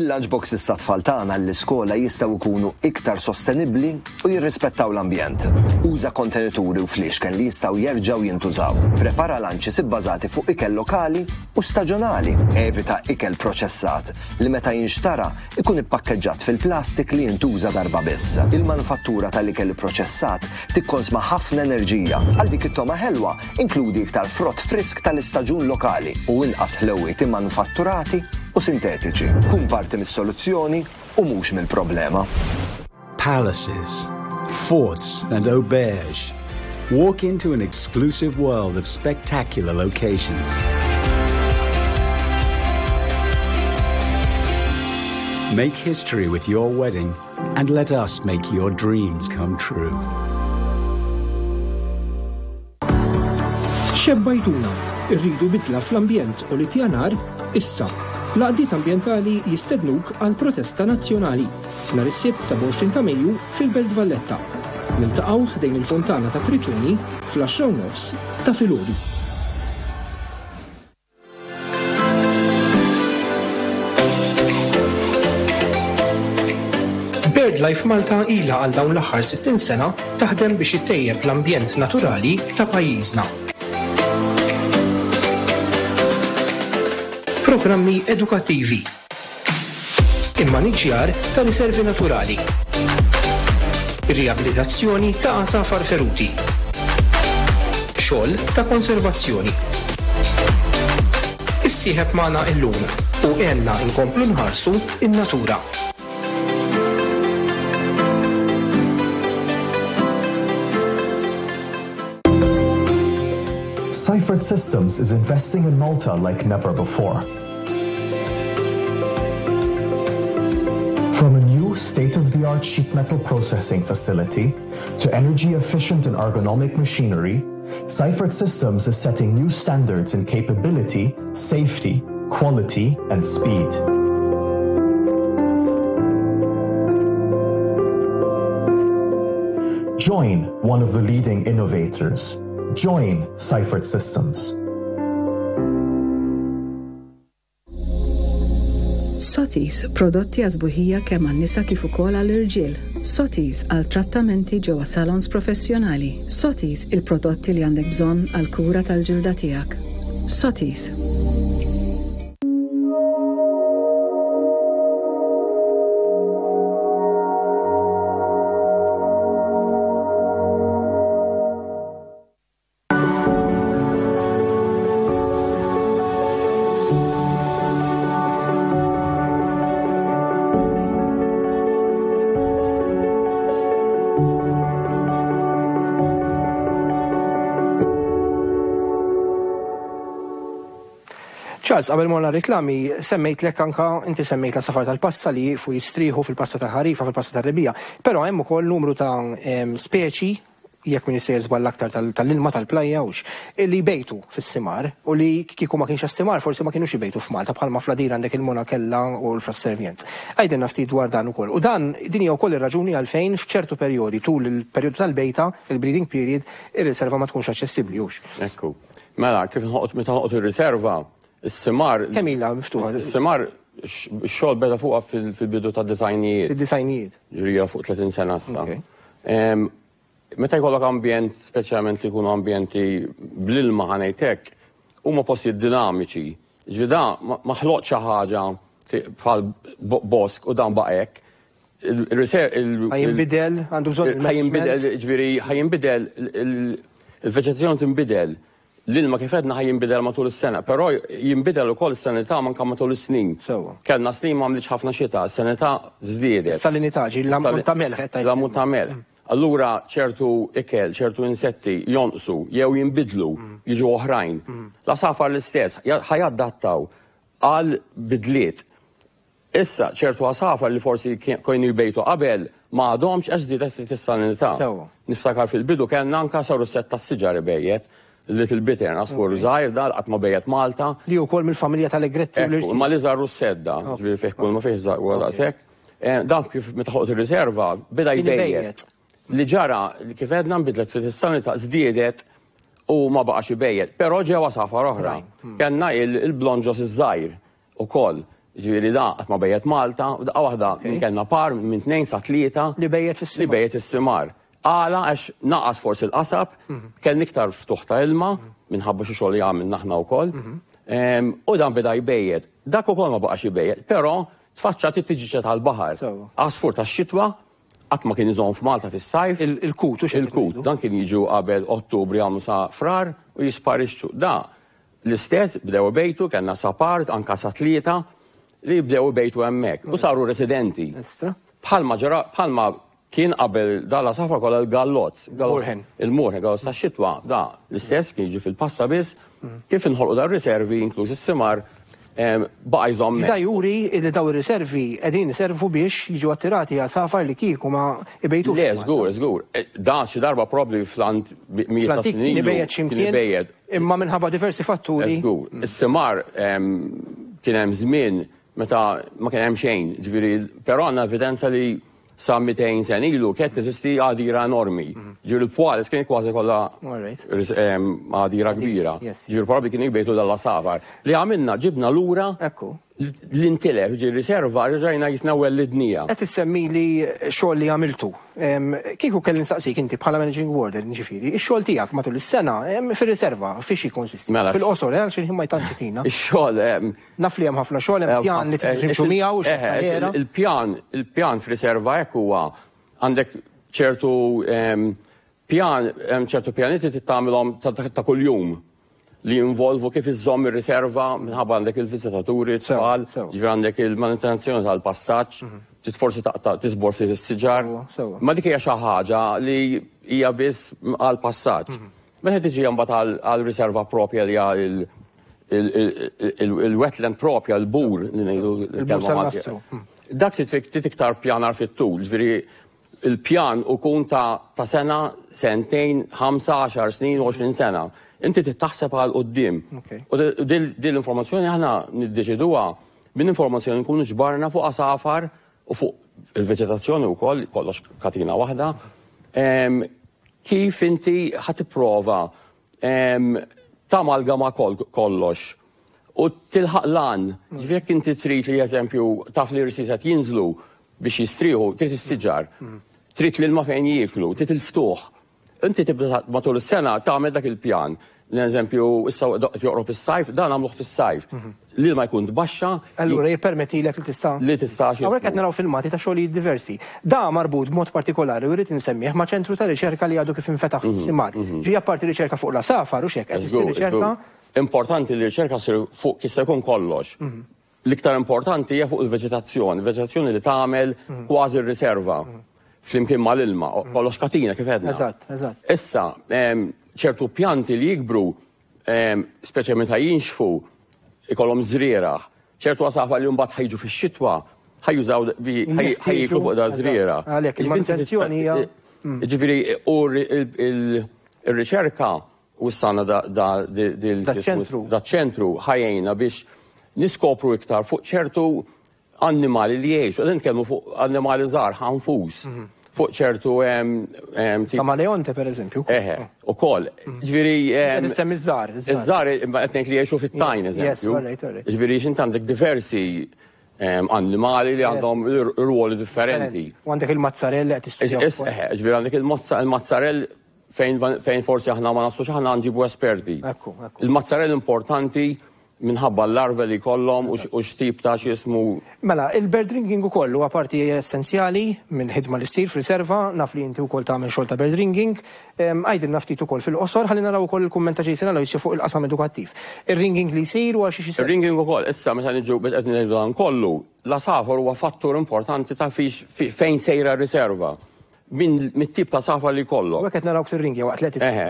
Il-lunchboxes ta' tfal tagħna l-iskola jistgħu jkunu iktar sostenibbli u jirrispettaw l-ambjent. Uża kontenituri u fliexken li jistgħu jerġgħu jintużaw. Prepara lunches ibbażati fuq ikel lokali u staġjonali. Evita ikel proċessat li meta jinxtara ikun ippakkeġġat fil-plastik li jintuża darba biss. Il-manufattura tal-ikel proċessat tikkonsma ħafna enerġija. Għal dik it-togħma ħelwa inkludi iktar frott frisk tal-istaġun lokali u inqas ħlewiet immanufatturati u sintetiċi. Kun parti mis-soluzzjoni u mhux mill-problema. Palaces, forts and auberges. Walk into an exclusive world of spectacular locations. Make history with your wedding and let us make your dreams come true. Xebbajtuna, irridu bidla fl-ambjent u l-ippjanar issa. L-għaqdiet ambjentali jistednuk għal protesta nazzjonali nhar is-Sibt sebgħa u għoxrin ta' Mejju fil-Belt Valletta. Niltaqgħu ħdejn il-Fontana ta' Tritoni fl-għaxra u nofs ta' filgħodu. BirdLife Malta ilha għal dawn l-aħħar sittin sena taħdem biex ittejjeb l-ambjent naturali ta' pajjiżna. Programmi edukattivi. Immaniġjar ta' riservi naturali. Riabilitazzjoni ta' għasafar feruti. Xogħol ta' konservazzjoni. Issieħeb magħna illum u għenna nkomplu nħarsu in-natura. Seifert Systems is investing in Malta like never before. From a new state-of-the-art sheet metal processing facility to energy-efficient and ergonomic machinery, Seifert Systems is setting new standards in capability, safety, quality, and speed. Join one of the leading innovators. Join Seifert Systems. Sotis, prodotti għas-sbuħija kemm għan-nisa kif ukoll għall-irġiel. Sotis għal trattamenti ġewwa salons professjonali. Sotis, il-prodotti li għandek bżonn għal kura tal-ġilda tiegħek. Sotis. Charles, qabel morna reklami, semmejtlek anka, inti semmejt l-għasafar tal-passa li jieqfu jistrieħu fil-passa tal-ħarifa, fil-passa tal-rebbiegħa, però hemm ukoll numru ta' em, speċi, jekk min jisejjer żball aktar tal-ilma tal-plajja hux, li jbejtu fis-simar u li kieku ma kienx simar forsi ma kienux jbejtu f'Malta, bħalma fl-Għadira għandek il-monakella u l-frasservjent. Għidilna ftit dwar dan ukoll. U dan din hija wkoll ir-raġuni għalfejn f'ċertu perjodi tul il-perjodu tal-bejta, il-breeding period, ir-riserva ma tkunx aċċessibbli hux. Ekku. Mela, kif nħoqot meta nħoqot ir-riserva, is-simar. Kemm ilha miftuħa? Is-simar x-xogħol beda fuqha fil-bidu ta' disgħinijiet. Fid-disgħinijiet. Ġrija fuq tletin sena issa. Meta jkollok ambjent, speċjalment li jkunu ambjenti bl-ilma, ħa ngħidlek, huma postijiet dinamiċi. Ġifieri da ma ħloq xi ħaġa bħal bosk u dan baqek. Ħa jinbidel, għandu bżonn. Ħa jinbidel, ġifieri, ħa jinbidel, il-veġetazzjoni tinbidel. L-ilma, kif għedna, ħa jinbidel matul is-sena, però jinbidel ukoll is-salinità anke matul is-snin. Kellna snin ma għamlitx ħafna xita, is-salinità żdiedet. Salinità, ġi l-ammont ta' melħ. L-ammont ta' melħ. Allura ċertu ikel, ċertu insetti jonqsu jew jinbidlu, jiġu oħrajn. L-għasafar l-istess, ħa jadattaw għal bidliet. Issa, ċertu għasafar li forsi kienu jbejtu qabel ma għadhomx għax żdiedet fis-salinità. Niftakar fil-bidu kellna anka russett tas-siġar ibejjet, little bittern, għasfur żgħir dal qatt ma bejjet Malta. Li wkoll mill-familja tal-egretti u l Ma li żar russett da, ġifieri fih kull ma fih daqshekk. Eh, dan kif meta ħolqot ir-riserva beda jbejjet. Li ġara, kif għedna, nbidlet fis-salinità, żdiedet u ma baqax ibejjet. Però ġew għasafar oħra. Kellna il-blonġos iż-żgħir ukoll. Ġifieri da qatt ma bejjet Malta, u daqqa waħda kellna par minn tnejn sa tlieta. Li bejjet fis-simar. Li bejjet is-simar. Għala? Għax naqas forsi l-qasab, kellna iktar ftuħ ta' ilma, minħabba xi xogħol li għamilna aħna wkoll. U dan beda jbejjet. Dak ukoll ma baqax jbejjet, però tfaċċat it-tiġiġa tal-baħar. Għasfur tax-xitwa, qatt ma kien iżomm f'Malta fis-sajf. Il-kut, Il-kut, dan kien jiġu qabel Ottubru, jagħmlu sa Frar u jisparixxu. Da l-istess bdew bejtu, kellna sa par, anka sa tlieta li bdew bejtu hemmhekk u saru residenti. Bħalma ġara, bħalma kien qabel dal-għasafar kollha, l-gallozz. Il-moorhen, gallozz ta' xitwa, da l-istess kien jiġi fil-passa biss, kif inħolqu dar riservi, inkluż is-simar, baqa' jżomm. Da juri li daw ir-riservi qegħdin iservu biex jiġu attirati għasafar li kieku ma ibejtux. Le, żgur, żgur. E, da xi darba probably fl-ant mijiet ta' snin ilu kien ximkien. Imma minħabba diversi fatturi. Żgur. Is-simar kien hemm żmien meta ma kien hemm xejn, ġifieri, però għandna evidenza li sa mitejn sena ilu kienet teżisti għadira enormi. Ġifieri l-Pwales kien kważi kollha għadira kbira. Ġifieri probabbli kien jbejtu dal-għasafar. Li għamilna, ġibna lura l-intilef, ġi riserva, rġajna jisna wellidnija. Qed issemmi li xogħol li għamiltu. Kieku kelli nsaqsik inti bħala managing warden, ġifieri, ix-xogħol tiegħek matul is-sena fir-riserva fiex jikkonsisti? Mela, Fil-qosor, għal xi ma jtantx. Ix-xogħol Naf li hemm ħafna xogħol, hemm pjan li timxu miegħu. Il-pjan, il-pjan fir-riserva hekk huwa, għandek ċertu pjan, ċertu pjanieti tagħmilhom ta' kuljum li jinvolvu kif iżżomm ir-riserva minħabba għandek il-viżitaturi, tfal, ġifieri għandek il-manutenzjoni tal-passaġġ, trid forsi taqta' tiżbor ftit is-siġar. Ma dik hija xi ħaġa li hija biss għal passaġġ. Meta tiġi mbagħad għal riserva propja li hija il-wetland propja, l-bur li ngħidu. Dak trid iktar pjanar fit-tul, ġifieri il-pjan ikun ta' sena, sentejn, ħamsa, għaxar snin, għoxrin sena. Inti taħseb għal quddiem. U din l-informazzjoni aħna niddeċiduha minn informazzjoni nkunu ġbarna fuq għasafar u fuq il-veġetazzjoni wkoll, kollox katina waħda. Kif inti ħa tipprova tamalgama kollox u tilħaq lan, ġifieri jekk inti trid li, eżempju, taf li r-rsiset jinżlu biex jistrieħu, trid is-siġar, trid l-ilma fejn jieklu, trid il-ftuħ. Inti tibda matul is-sena tagħmel dak il-pjan. L-eżempju, issa joqrob is-sajf, dan għamluh fis-sajf. L-ilma jkun tbaxxa. Allura jippermettilek li tista' Li tista' Hawnhekk qed naraw filmati ta' xogħlijiet diversi. Da marbut b'mod partikolari u rrid insemmih ma' ċentru ta' riċerka li għadu kif infetaħ fis-simar. Ġi apparti riċerka fuq l-għasafar u xek, qed issir riċerka. Importanti li riċerka ssir fuq kif se jkun kollox. L-iktar importanti hija fuq il-veġetazzjoni, veġetazzjoni li tagħmel kważi r-riserva flimkien mal-ilma, kollox katina kif għedna. Eżatt, eżatt. Issa, ċertu pjanti li jikbru, speċjalment meta jinxfu, ikollhom żrieragħ. Ċertu għasafar li mbagħad ħa jiġu fix-xitwa, ħa jużaw, ħa jieklu fuq da żrieragħ. Għalhekk il-manutenzjoni hija. Ġifieri u r-riċerka u s-sana da ċentru. Da ċentru ħa jgħinna biex niskopru iktar fuq ċertu annimali li jgħixu. Qegħdin nitkellmu fuq annimali żgħar, ħanfus, fuq ċertu Kamaleonte, per eżempju. Eħe, ukoll. Ġifieri Qed issemmi ż-żgħar. Iż-żgħar, imma qed ngħid li jgħixu fit-tajn, eżempju. Ġifieri x'int għandek diversi annimali li għandhom ruoli differenti. U għandek il-mazzarell qed tistudja. Ġifieri għandek il-mazzarell fejn forsi aħna ma nafux, aħna nġibu esperti. Il-mazzarell importanti minħabba l-larve li kollhom u x'tip ta' x'ismu. Mela, il-bird ringing ukoll huwa parti essenzjali minn ħidma li ssir f'riserva, naf li inti wkoll tagħmel xogħol ta' bird ringing. Għidilna ftit ukoll fil-qosor, ħalli naraw ukoll il-kumment ta' Jason Aloisio fuq il-qasam edukattiv. Ir-ringing li jsir u għal xi xi Ir-ringing ukoll, issa meta niġu qed ngħidu dan kollu, l-għasafar huwa fattur importanti ta' fejn sejra r-riserva. Mit-tip ta' għasafar li kollok. U qed naraw tir-ringja waqt li Eħe,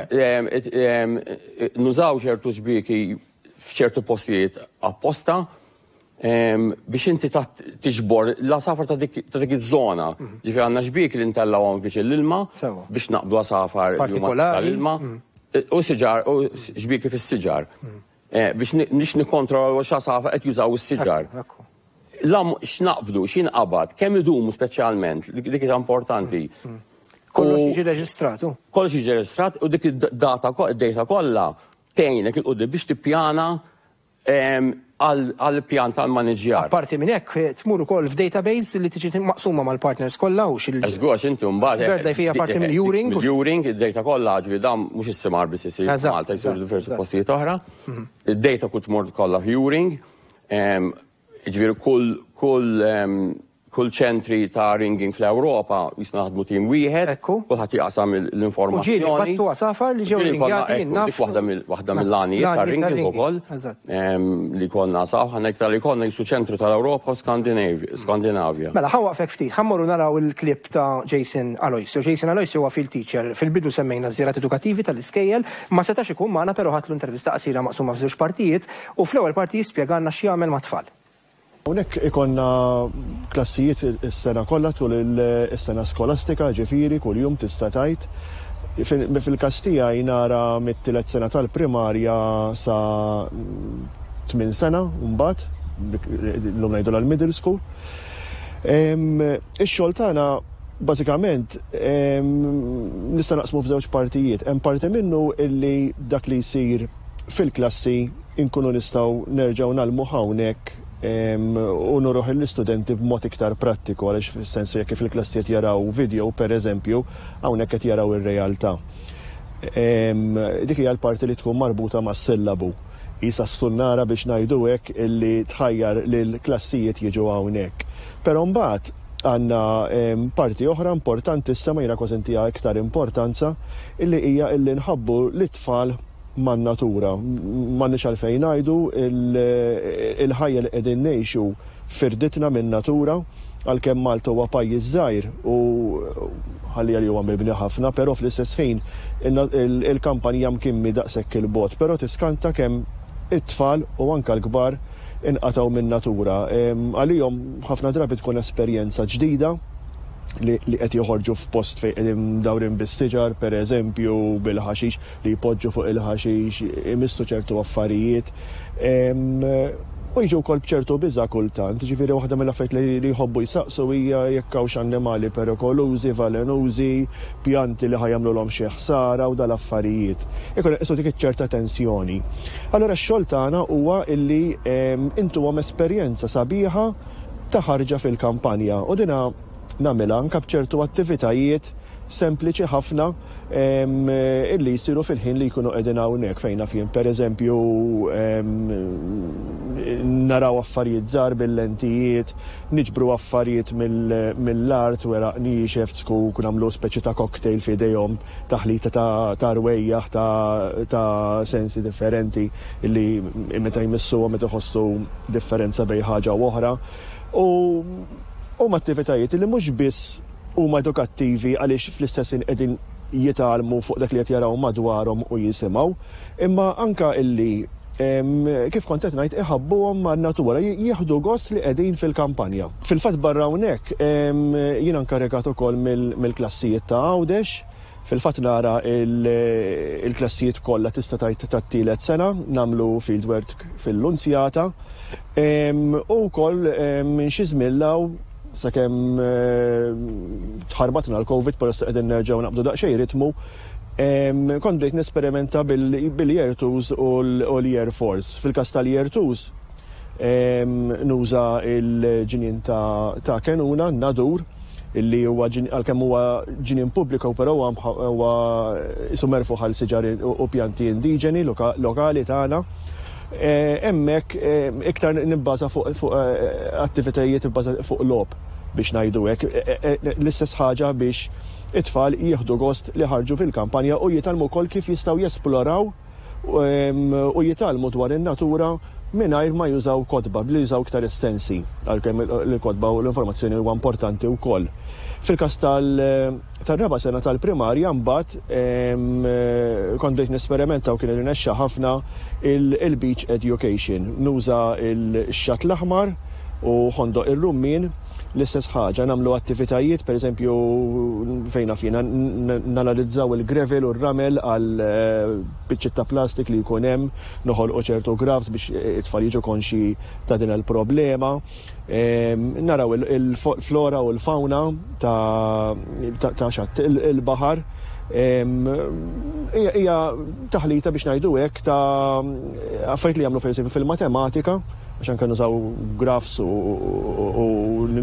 nużaw ċertu xbieki f'ċertu postijiet apposta biex inti tiġbor l-għasafar ta' dik iż-żona. Ġifieri għandna xbiek li ntellgħuhom viċin l-ilma biex naqbdu għasafar tal-ilma u siġar u xbieki fis-siġar biex nikkontrollaw x'għasafar qed jużaw is-siġar. Lam x'naqbdu, x'inqabad, kemm idumu speċjalment, dik hija importanti. Kollox jiġi reġistratu. Kollox jiġi reġistrat u dik id-data id-data kollha tgħinek 'il quddiem biex tippjana għal pjan tal-maniġjar. Apparti minn hekk tmur ukoll f'database li tiġi maqsuma mal-partners kollha u xil. Żgur, inti mbagħad. BirdLife hija parti mill-EURING. Mill-EURING, id-data kollha, ġifieri dan mhux is-simar biss isir Malta, jsir diversi postijiet oħra. Id-data kull tmur kollha f'EURING. Ġifieri kull kull kull ċentri ta' ringing fl-Ewropa jisna naħdmu tim wieħed, kulħadd jaqsam l-informazzjoni. U ġieli qbadtu għasafar li ġew ringati. Dik waħda mill-għanijiet ta' ringing ukoll li konna saf, ħana iktar li konna jisu ċentru tal-Ewropa u Skandinavja. Mela, ħa nwaqqfek ftit, ħa mmorru naraw il-klip ta' Jason Aloisio. Jason Aloisio huwa field teacher. Fil-bidu semmejna żjarat edukattivi tal-iskejjel, ma setax ikun magħna, però ħadtlu intervista qasira maqsuma f'żewġ partijiet u fl-ewwel parti jispjegana x'jagħmel mat-tfal. Hawnhekk ikollna klassijiet is-sena kollha tul is-sena skolastika, ġifieri kuljum tista' tgħid. Fil-każ tiegħi nara mit-tielet sena tal-primarja sa tmien sena mbagħad, llum ngħidu l-middle school. Ix-xogħol tagħna bażikament nista' naqsmu f'żewġ partijiet. Hemm parti minnu illi dak li jsir fil-klassi inkunu nistgħu nerġgħu ngħallmu hawnhekk u nuruh l-istudenti b'mod iktar prattiku, għaliex fis-sens jekk fil-klassijiet jaraw video, per eżempju, hawnhekk qed jaraw ir-realtà. Dik hija l-parti li tkun marbuta mas-sillabu. Isa s-sunnara biex ngħidu hekk illi tħajjar lil klassijiet jiġu hawnhekk. Però mbagħad għandna parti oħra importanti, issa ma jiena kważi ntiha iktar importanza, illi hija illi nħabbu l-tfal man-natura. M'għandniex għalfejn ngħidu, il-ħajja li qegħdin ngħixu firditna min-natura, għalkemm Malta huwa pajjiż żgħir u ħalli li huwa mibni ħafna, però fl-istess ħin il-kampanja mkimmi daqshekk il-bogħod, però tiskanta kemm it-tfal u anke l-kbar inqatgħu min-natura. Għalihom ħafna drabi tkun esperjenza ġdida li qed joħorġu f'post fejn qegħdin dawrin bis-siġar, per eżempju, bil-ħaxix, li jpoġġu fuq il-ħaxix, imissu ċertu affarijiet. U jiġu wkoll b'ċertu biża' kultant, ġifieri waħda mill-affarijiet li jħobbu jsaqsu hija jekk hawnx annimali perikolużi, velenużi, pjanti li ħa jagħmluhom xi ħsara u dal-affarijiet. Ikun qisu dik iċ-ċerta tensjoni. Allura x-xogħol tagħna huwa illi intuhom esperjenza sabiħa ta' ħarġa fil-kampanja u dina nagħmilha anke b'ċertu attivitajiet sempliċi ħafna illi jsiru fil-ħin li jkunu qegħdin hawnhekk, fejn naf jien, pereżempju, naraw affarijiet żgħar bil-lentijiet, niġbru affarijiet mill-art, weraq niexef, zkuk, nagħmlu speċi ta' cocktail f'idejhom, taħlita ta' rwejjaħ ta' sensi differenti illi meta jmissuhom meta jħossu differenza bejn ħaġa u oħra. U huma attivitajiet li mhux biss huma edukattivi għaliex fl-istess ħin qegħdin jitgħallmu fuq dak li qed jaraw madwarhom u jisimgħu, imma anka illi kif kont qed ngħid iħabbuhom man-natura, jieħdu gost li qegħdin fil-kampanja. Fil-fatt barra hawnhekk jiena nkarigat ukoll mill-klassijiet ta' Għawdex. Fil-fatt nara il-klassijiet kollha tista' tgħid tat-tielet sena, nagħmlu fieldwork fil-Lunzjata u wkoll minn xi żmien law sakemm tħarbatna l-Covid, però issa qegħdin nerġgħu naqbdu daqsxejn ritmu. Kont bdejt nesperimenta bil-Year twos u l-Year fours. Fil-każ tal-Year twos Nuża il-ġnien ta' Kenuna, Nadur, illi huwa għalkemm huwa ġnien pubbliku, però huwa isu merfuħ għal siġar u pjanti indiġeni lokali tagħna. Hemmhekk iktar nibbaża fuq attivitajiet ibbażati fuq logħob biex ngħidu hekk. L-istess ħaġa biex it-tfal jieħdu gost li ħarġu fil-kampanja u jitgħallmu wkoll kif jistgħu jesploraw u jitgħallmu dwar in-natura mingħajr ma jużaw kotba, billi jużaw iktar is-sensi, għalkemm il-kotba u l-informazzjoni huwa importanti wkoll. Fil-każ tal-raba' sena tal-primarja mbagħad kont bdejt nesperimenta u kien irnexxa ħafna il-beach education. Nuża l-xatt l-aħmar u Ħondoq ir-Rummien, l-istess ħaġa, nagħmlu attivitajiet, pereżempju fejn naf jiena nanalizzaw il-gravel u r-ramel għal biċċiet ta' plastik li jkun hemm, noħolqu ċertu graphs biex it-tfal jiġu konxi ta' din il-problema. Naraw il-flora u l-fauna ta' xatt il-baħar. Hija taħlita biex ngħidu hekk ta' affarijiet li jagħmlu pereżempju fil-matematika, għax anke nużaw graphs u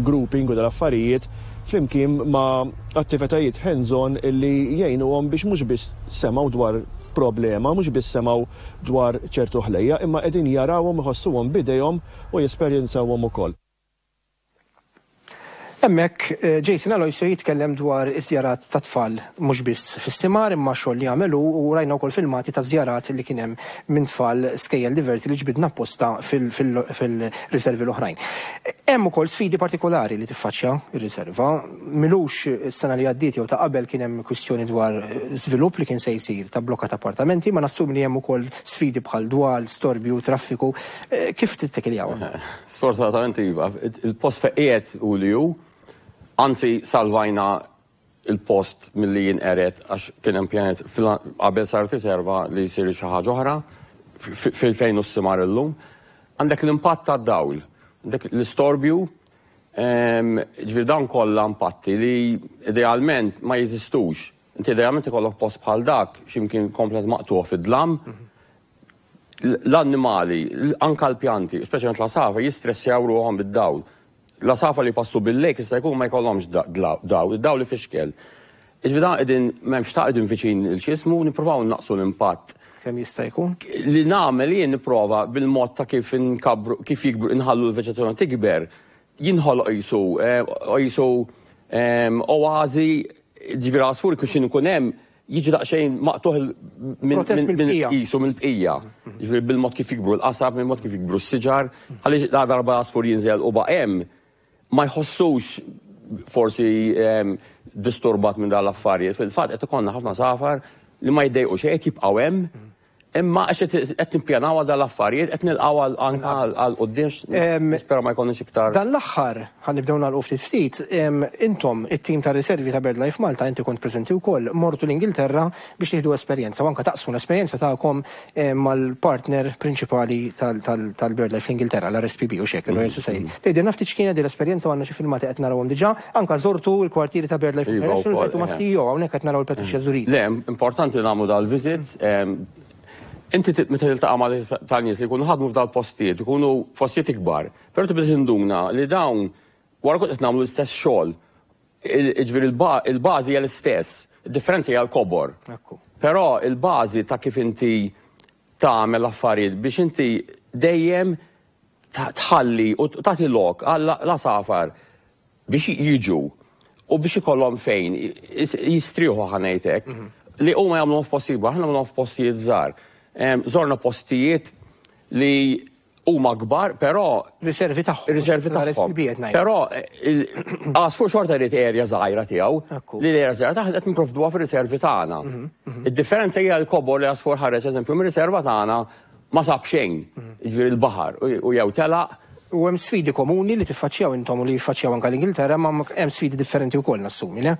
grouping u dal-affarijiet flimkien ma' attivitajiet hands-on illi jgħinuhom biex mhux biss semgħu dwar problema, mhux biss semgħu dwar ċertu ħlejja, imma qegħdin jarawhom, iħossuhom b'idejhom u jesperjenzawhom ukoll. Hemmhekk Jason Aloisio jitkellem dwar iż-żjarat ta' tfal mhux biss fis-simar imma xogħol li għamel hu u rajna wkoll filmati ta' żjarat li kien hemm minn tfal skejjel diversi li ġbidna apposta fil-riservi l-oħrajn. Hemm ukoll sfidi partikolari li tiffaċċja r-riserva. Milux is-sena li għaddiet jew ta' qabel kien hemm kwistjoni dwar żvilupp li kien se jsir ta' blokka ta' appartamenti, ma nassumi li hemm ukoll sfidi bħal dwal, storbju, traffiku. Kif tittekiljawhom? Sfortunatament iva, il-post fejn qiegħed u li hu, anzi salvajna il-post milli jinqered għax kien hemm pjanet qabel saret riserva li jsir xi ħaġa oħra fil-fejn hu s-simar illum. Għandek l-impatt tad-dawl, għandek l-istorbju, ġifieri dawn kollha impatti li idealment ma jeżistux. Inti idealment ikollok post bħal dak x'imkien komplet maqtuħ fid-dlam. L-annimali, anka l-pjanti, speċjalment l-għasafar, jistressjaw ruħhom bid-dawl. L-għasafar li passu bil-lejk jista' jkun ma jkollhomx dawl, id-dawl ifixkel. Jiġifieri dan qegħdin m'hemmx ta' qegħdin viċin il-x'ismu nippruvaw naqsu l-impatt. Kemm jista' jkun? Li nagħmel jien nipprova bil-mod ta' kif inkabru, kif jikbru, inħallu l-veġetazzjoni tikber, jinħoloq qisu qisu oażi, ġifieri għasfur kif xi ikun hemm, jiġi daqsxejn maqtuħ minn qisu mill-bqija. Ġifieri bil-mod kif jikbru l-qasab, bil-mod kif jikbru s-siġar, ħalli la darba l-għasfur jinżel u baqa' hemm, ma jħossux forsi disturbat minn dan l-affarijiet. Fil-fatt qed ikollna ħafna safar li ma jiddejqu xejn, qed jibqgħu hemm, imma għax qed nippjanaw għal dan l-affarijiet, qed nilqgħu anke għal quddiem, nispera ma jkollniex iktar. Dan l-aħħar, ħa nibdew nagħlqu ftit ftit, intom it-tim ta' riservi ta' BirdLife Malta, inti kont preżenti wkoll, mortu l-Ingilterra biex tieħdu esperjenza u anke taqsmu l-esperjenza tagħkom mal-partner prinċipali tal-BirdLife fl-Ingilterra, l-R S P B u xek, il-Royal Society. Tgħidilna ftit x'kienet din l-esperjenza u għandna xi filmati qed narawhom diġà, anke żortu l-kwartieri ta' BirdLife International, rajtu ma' C E O hawnhekk qed naraw il-Patricia Zurita. Le, importanti nagħmlu dal-visits. Inti meta tiltaqa' ma' tal-nies li jkunu ħadmu f'dal postijiet, ikunu postijiet ikbar, però tibda tinduna li dawn wara kont qed nagħmlu l-istess xogħol. Jiġifieri il-bażi hija l-istess, id-differenza hija l-kobor. Però il-bażi ta' kif inti tagħmel affarijiet biex inti dejjem tħalli u tagħti lok għall-għasafar biex jiġu u biex ikollhom fejn jistrieħu ħanejtek li huma jagħmluhom f'postijiet kbar, aħna nagħmluhom f'postijiet żgħar. Żorna postijiet li huma kbar, però riservi tagħhom. Riservi L-R S P B tagħhom. qed ngħid. Però għasfur xorta jrid erja żgħira tiegħu, li l-erja żgħira tagħha qed nipprovduha fir-riservi tagħna. Mhm, mhm. Id-differenza hija l-kobor li għasfur ħareġ eżempju mir-riserva tagħna ma sab xejn, Mhm. jiġifieri l-baħar u jew telaq. U hemm sfidi komuni li tiffaċċjaw intom u li jiffaċċjaw anke l-Ingilterra, ma hemm sfidi differenti wkoll nassumi, le?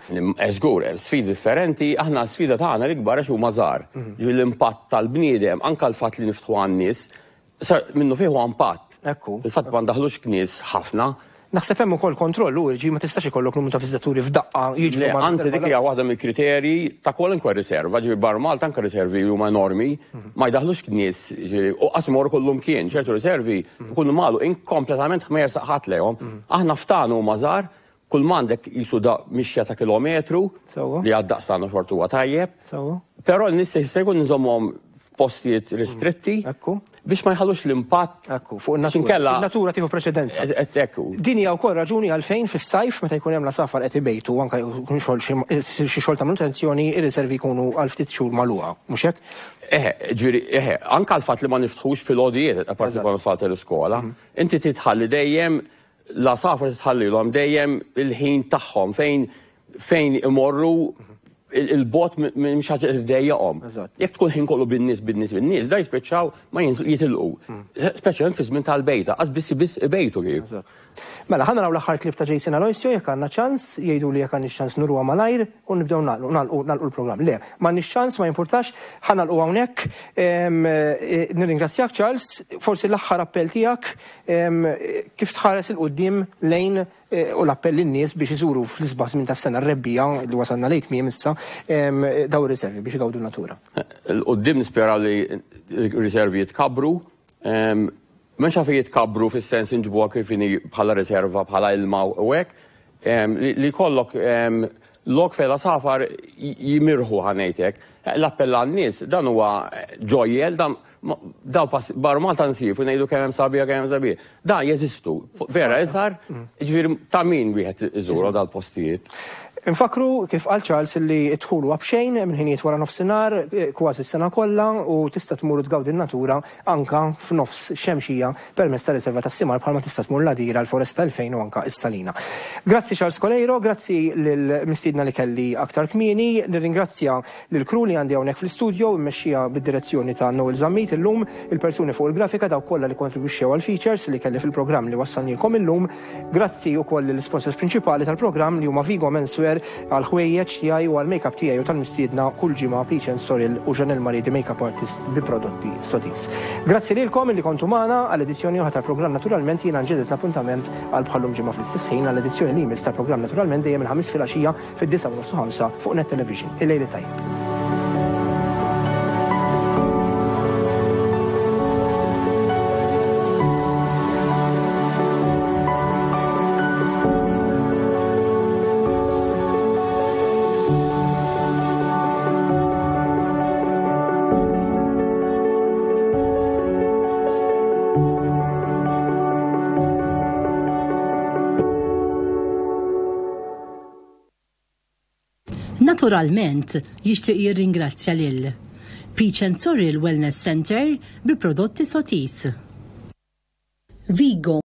Żgur, hemm sfidi differenti, aħna sfida tagħna l-ikbar għax huma żgħar. Mhm. Ġifieri l-impatt tal-bniedem, anke l-fatt li niftħu għan-nies, sar minnu fih huwa impatt. Ekku. Fil-fatt ma ndaħlux knies ħafna. Naħseb hemm ukoll kontroll u ġi ma tistax ikollok numru ta' viżitaturi f'daqqa jiġru Le, ma' anzi, dik hija waħda mill-kriterji ta' kwalunkwe riserva, ġifieri barra Malta anke riservi li huma enormi, ma jdaħlux nies, ġifieri, u qas imorru kullum kien, ċertu riservi ikunu magħluqin kompletament, ma jersaq ħadd lejhom. Aħna ftanu huma żgħar, kull m'għandek jisu da mixja ta' kilometru li għad-daqs xorta huwa tajjeb. Però n-nies jista' jkun nżommhom f'postijiet ristritti biex ma jħallux l-impatt. Ekku, fuq in-natura. Il-natura tieħu preċedenza. Ekku. Din hija wkoll raġuni għalfejn fis-sajf, meta jkun hemm l-għasafar qed ibejtu, anke jkun xogħol xi xi xogħol ta' manutenzjoni, ir-riservi jkunu għal ftit xhur magħluqa, mhux hekk? Eħe, ġifieri, eħe, anke l-fatt li ma niftħux fil-għodijiet, apparti kont fatt l-iskola, inti titħalli dejjem l-għasafar, titħallilhom dejjem il-ħin tagħhom fejn fejn imorru il-bot minn xi ħaġa ddejjaqhom. Jekk tkun ħin kollu bin-nies, bin-nies, bin-nies, da jispiċċaw ma jinżlu, jitilqu. Speċjalment fi żmien tal-bejta, qas biss biss ibejtu kif. Mela, ħa naraw l-aħħar klip ta' Jason Aloisio jekk għandna ċans, jgħidu li jekk għandna ċans nuruha malajr u nibdew nagħlqu nagħlqu l-programm. Le, m'għandniex ċans, ma jimpurtax, ħa nagħlqu hawnhekk. Eh, nirringrazzjak Charles, forsi l-aħħar appell tiegħek, kif tħares 'il quddiem lejn eh, u l-appell lin-nies biex iżuru fl-isbaħ żmien tas-sena, r-rebbiegħa li wasalna lejn tmiem issa, daw ir-riservi biex igawdu natura. 'Il quddiem nispera li r-riservi jitkabru. M'hemmx għalfejn jitkabru fis-sens inġibuha kif inhi bħala riserva, bħala ilma u hekk, li jkollok lok fejn l-għasafar jimirħu, ħa ngħidlek. L-appell għan-nies, dan huwa ġojjel, dan daw barra Malta nsifu ngħidu kemm hemm sabiħa, kemm hemm sabiħa. Dan jeżistu, vera iżgħar, ġifieri ta' min wieħed iżuru dal-postijiet. Infakru kif qal Charles li d-dħul huwa b'xejn minn ħinijiet wara nofsinhar eh, kważi s-sena kollha u tista' tmur tgawdi n-natura anka f'nofs xemxija permezz ta' riserva tas-Simar, bħalma tista' tmur l-Għadira, l-Foresta elfejn u anka is-Salina. Grazzi Charles Coleiro, grazzi lill-mistiedna li kelli aktar kmieni, nirringrazzja lil crew li għandi hawnhekk fl-istudio immexxija bid-direzzjoni ta' Noel Zammit illum, il-persuni fuq il-grafika, dawk kollha li kontribwixxew għal features li kelli fil-programm li wassalnilkom illum. Grazzi wkoll lill-sponsors prinċipali tal-programm li huma Vigo Menswear għal ħwejjeġ tiegħi u għal make-up tiegħi u tal-mistiedna kull ġimgħa, Peach and Sorrel u Janelle Marie di Makeup Artist bi prodotti Sotis. Grazzi lilkom illi kontu magħna għal edizzjoni oħra tal-programm Naturalment. Jiena nġedded l-appuntament għal bħallum ġimgħa fl-istess ħin għal edizzjoni li jmiss tal-programm Naturalment, dejjem il-Ħamis filgħaxija fid-disgħa u nofs ħamsa fuq Net Television. Il-lejl tajjeb. Naturalment, jixtieq jirringrazzja lil Peach and Sorrel Wellness Center bi prodotti Sotis. Vigo.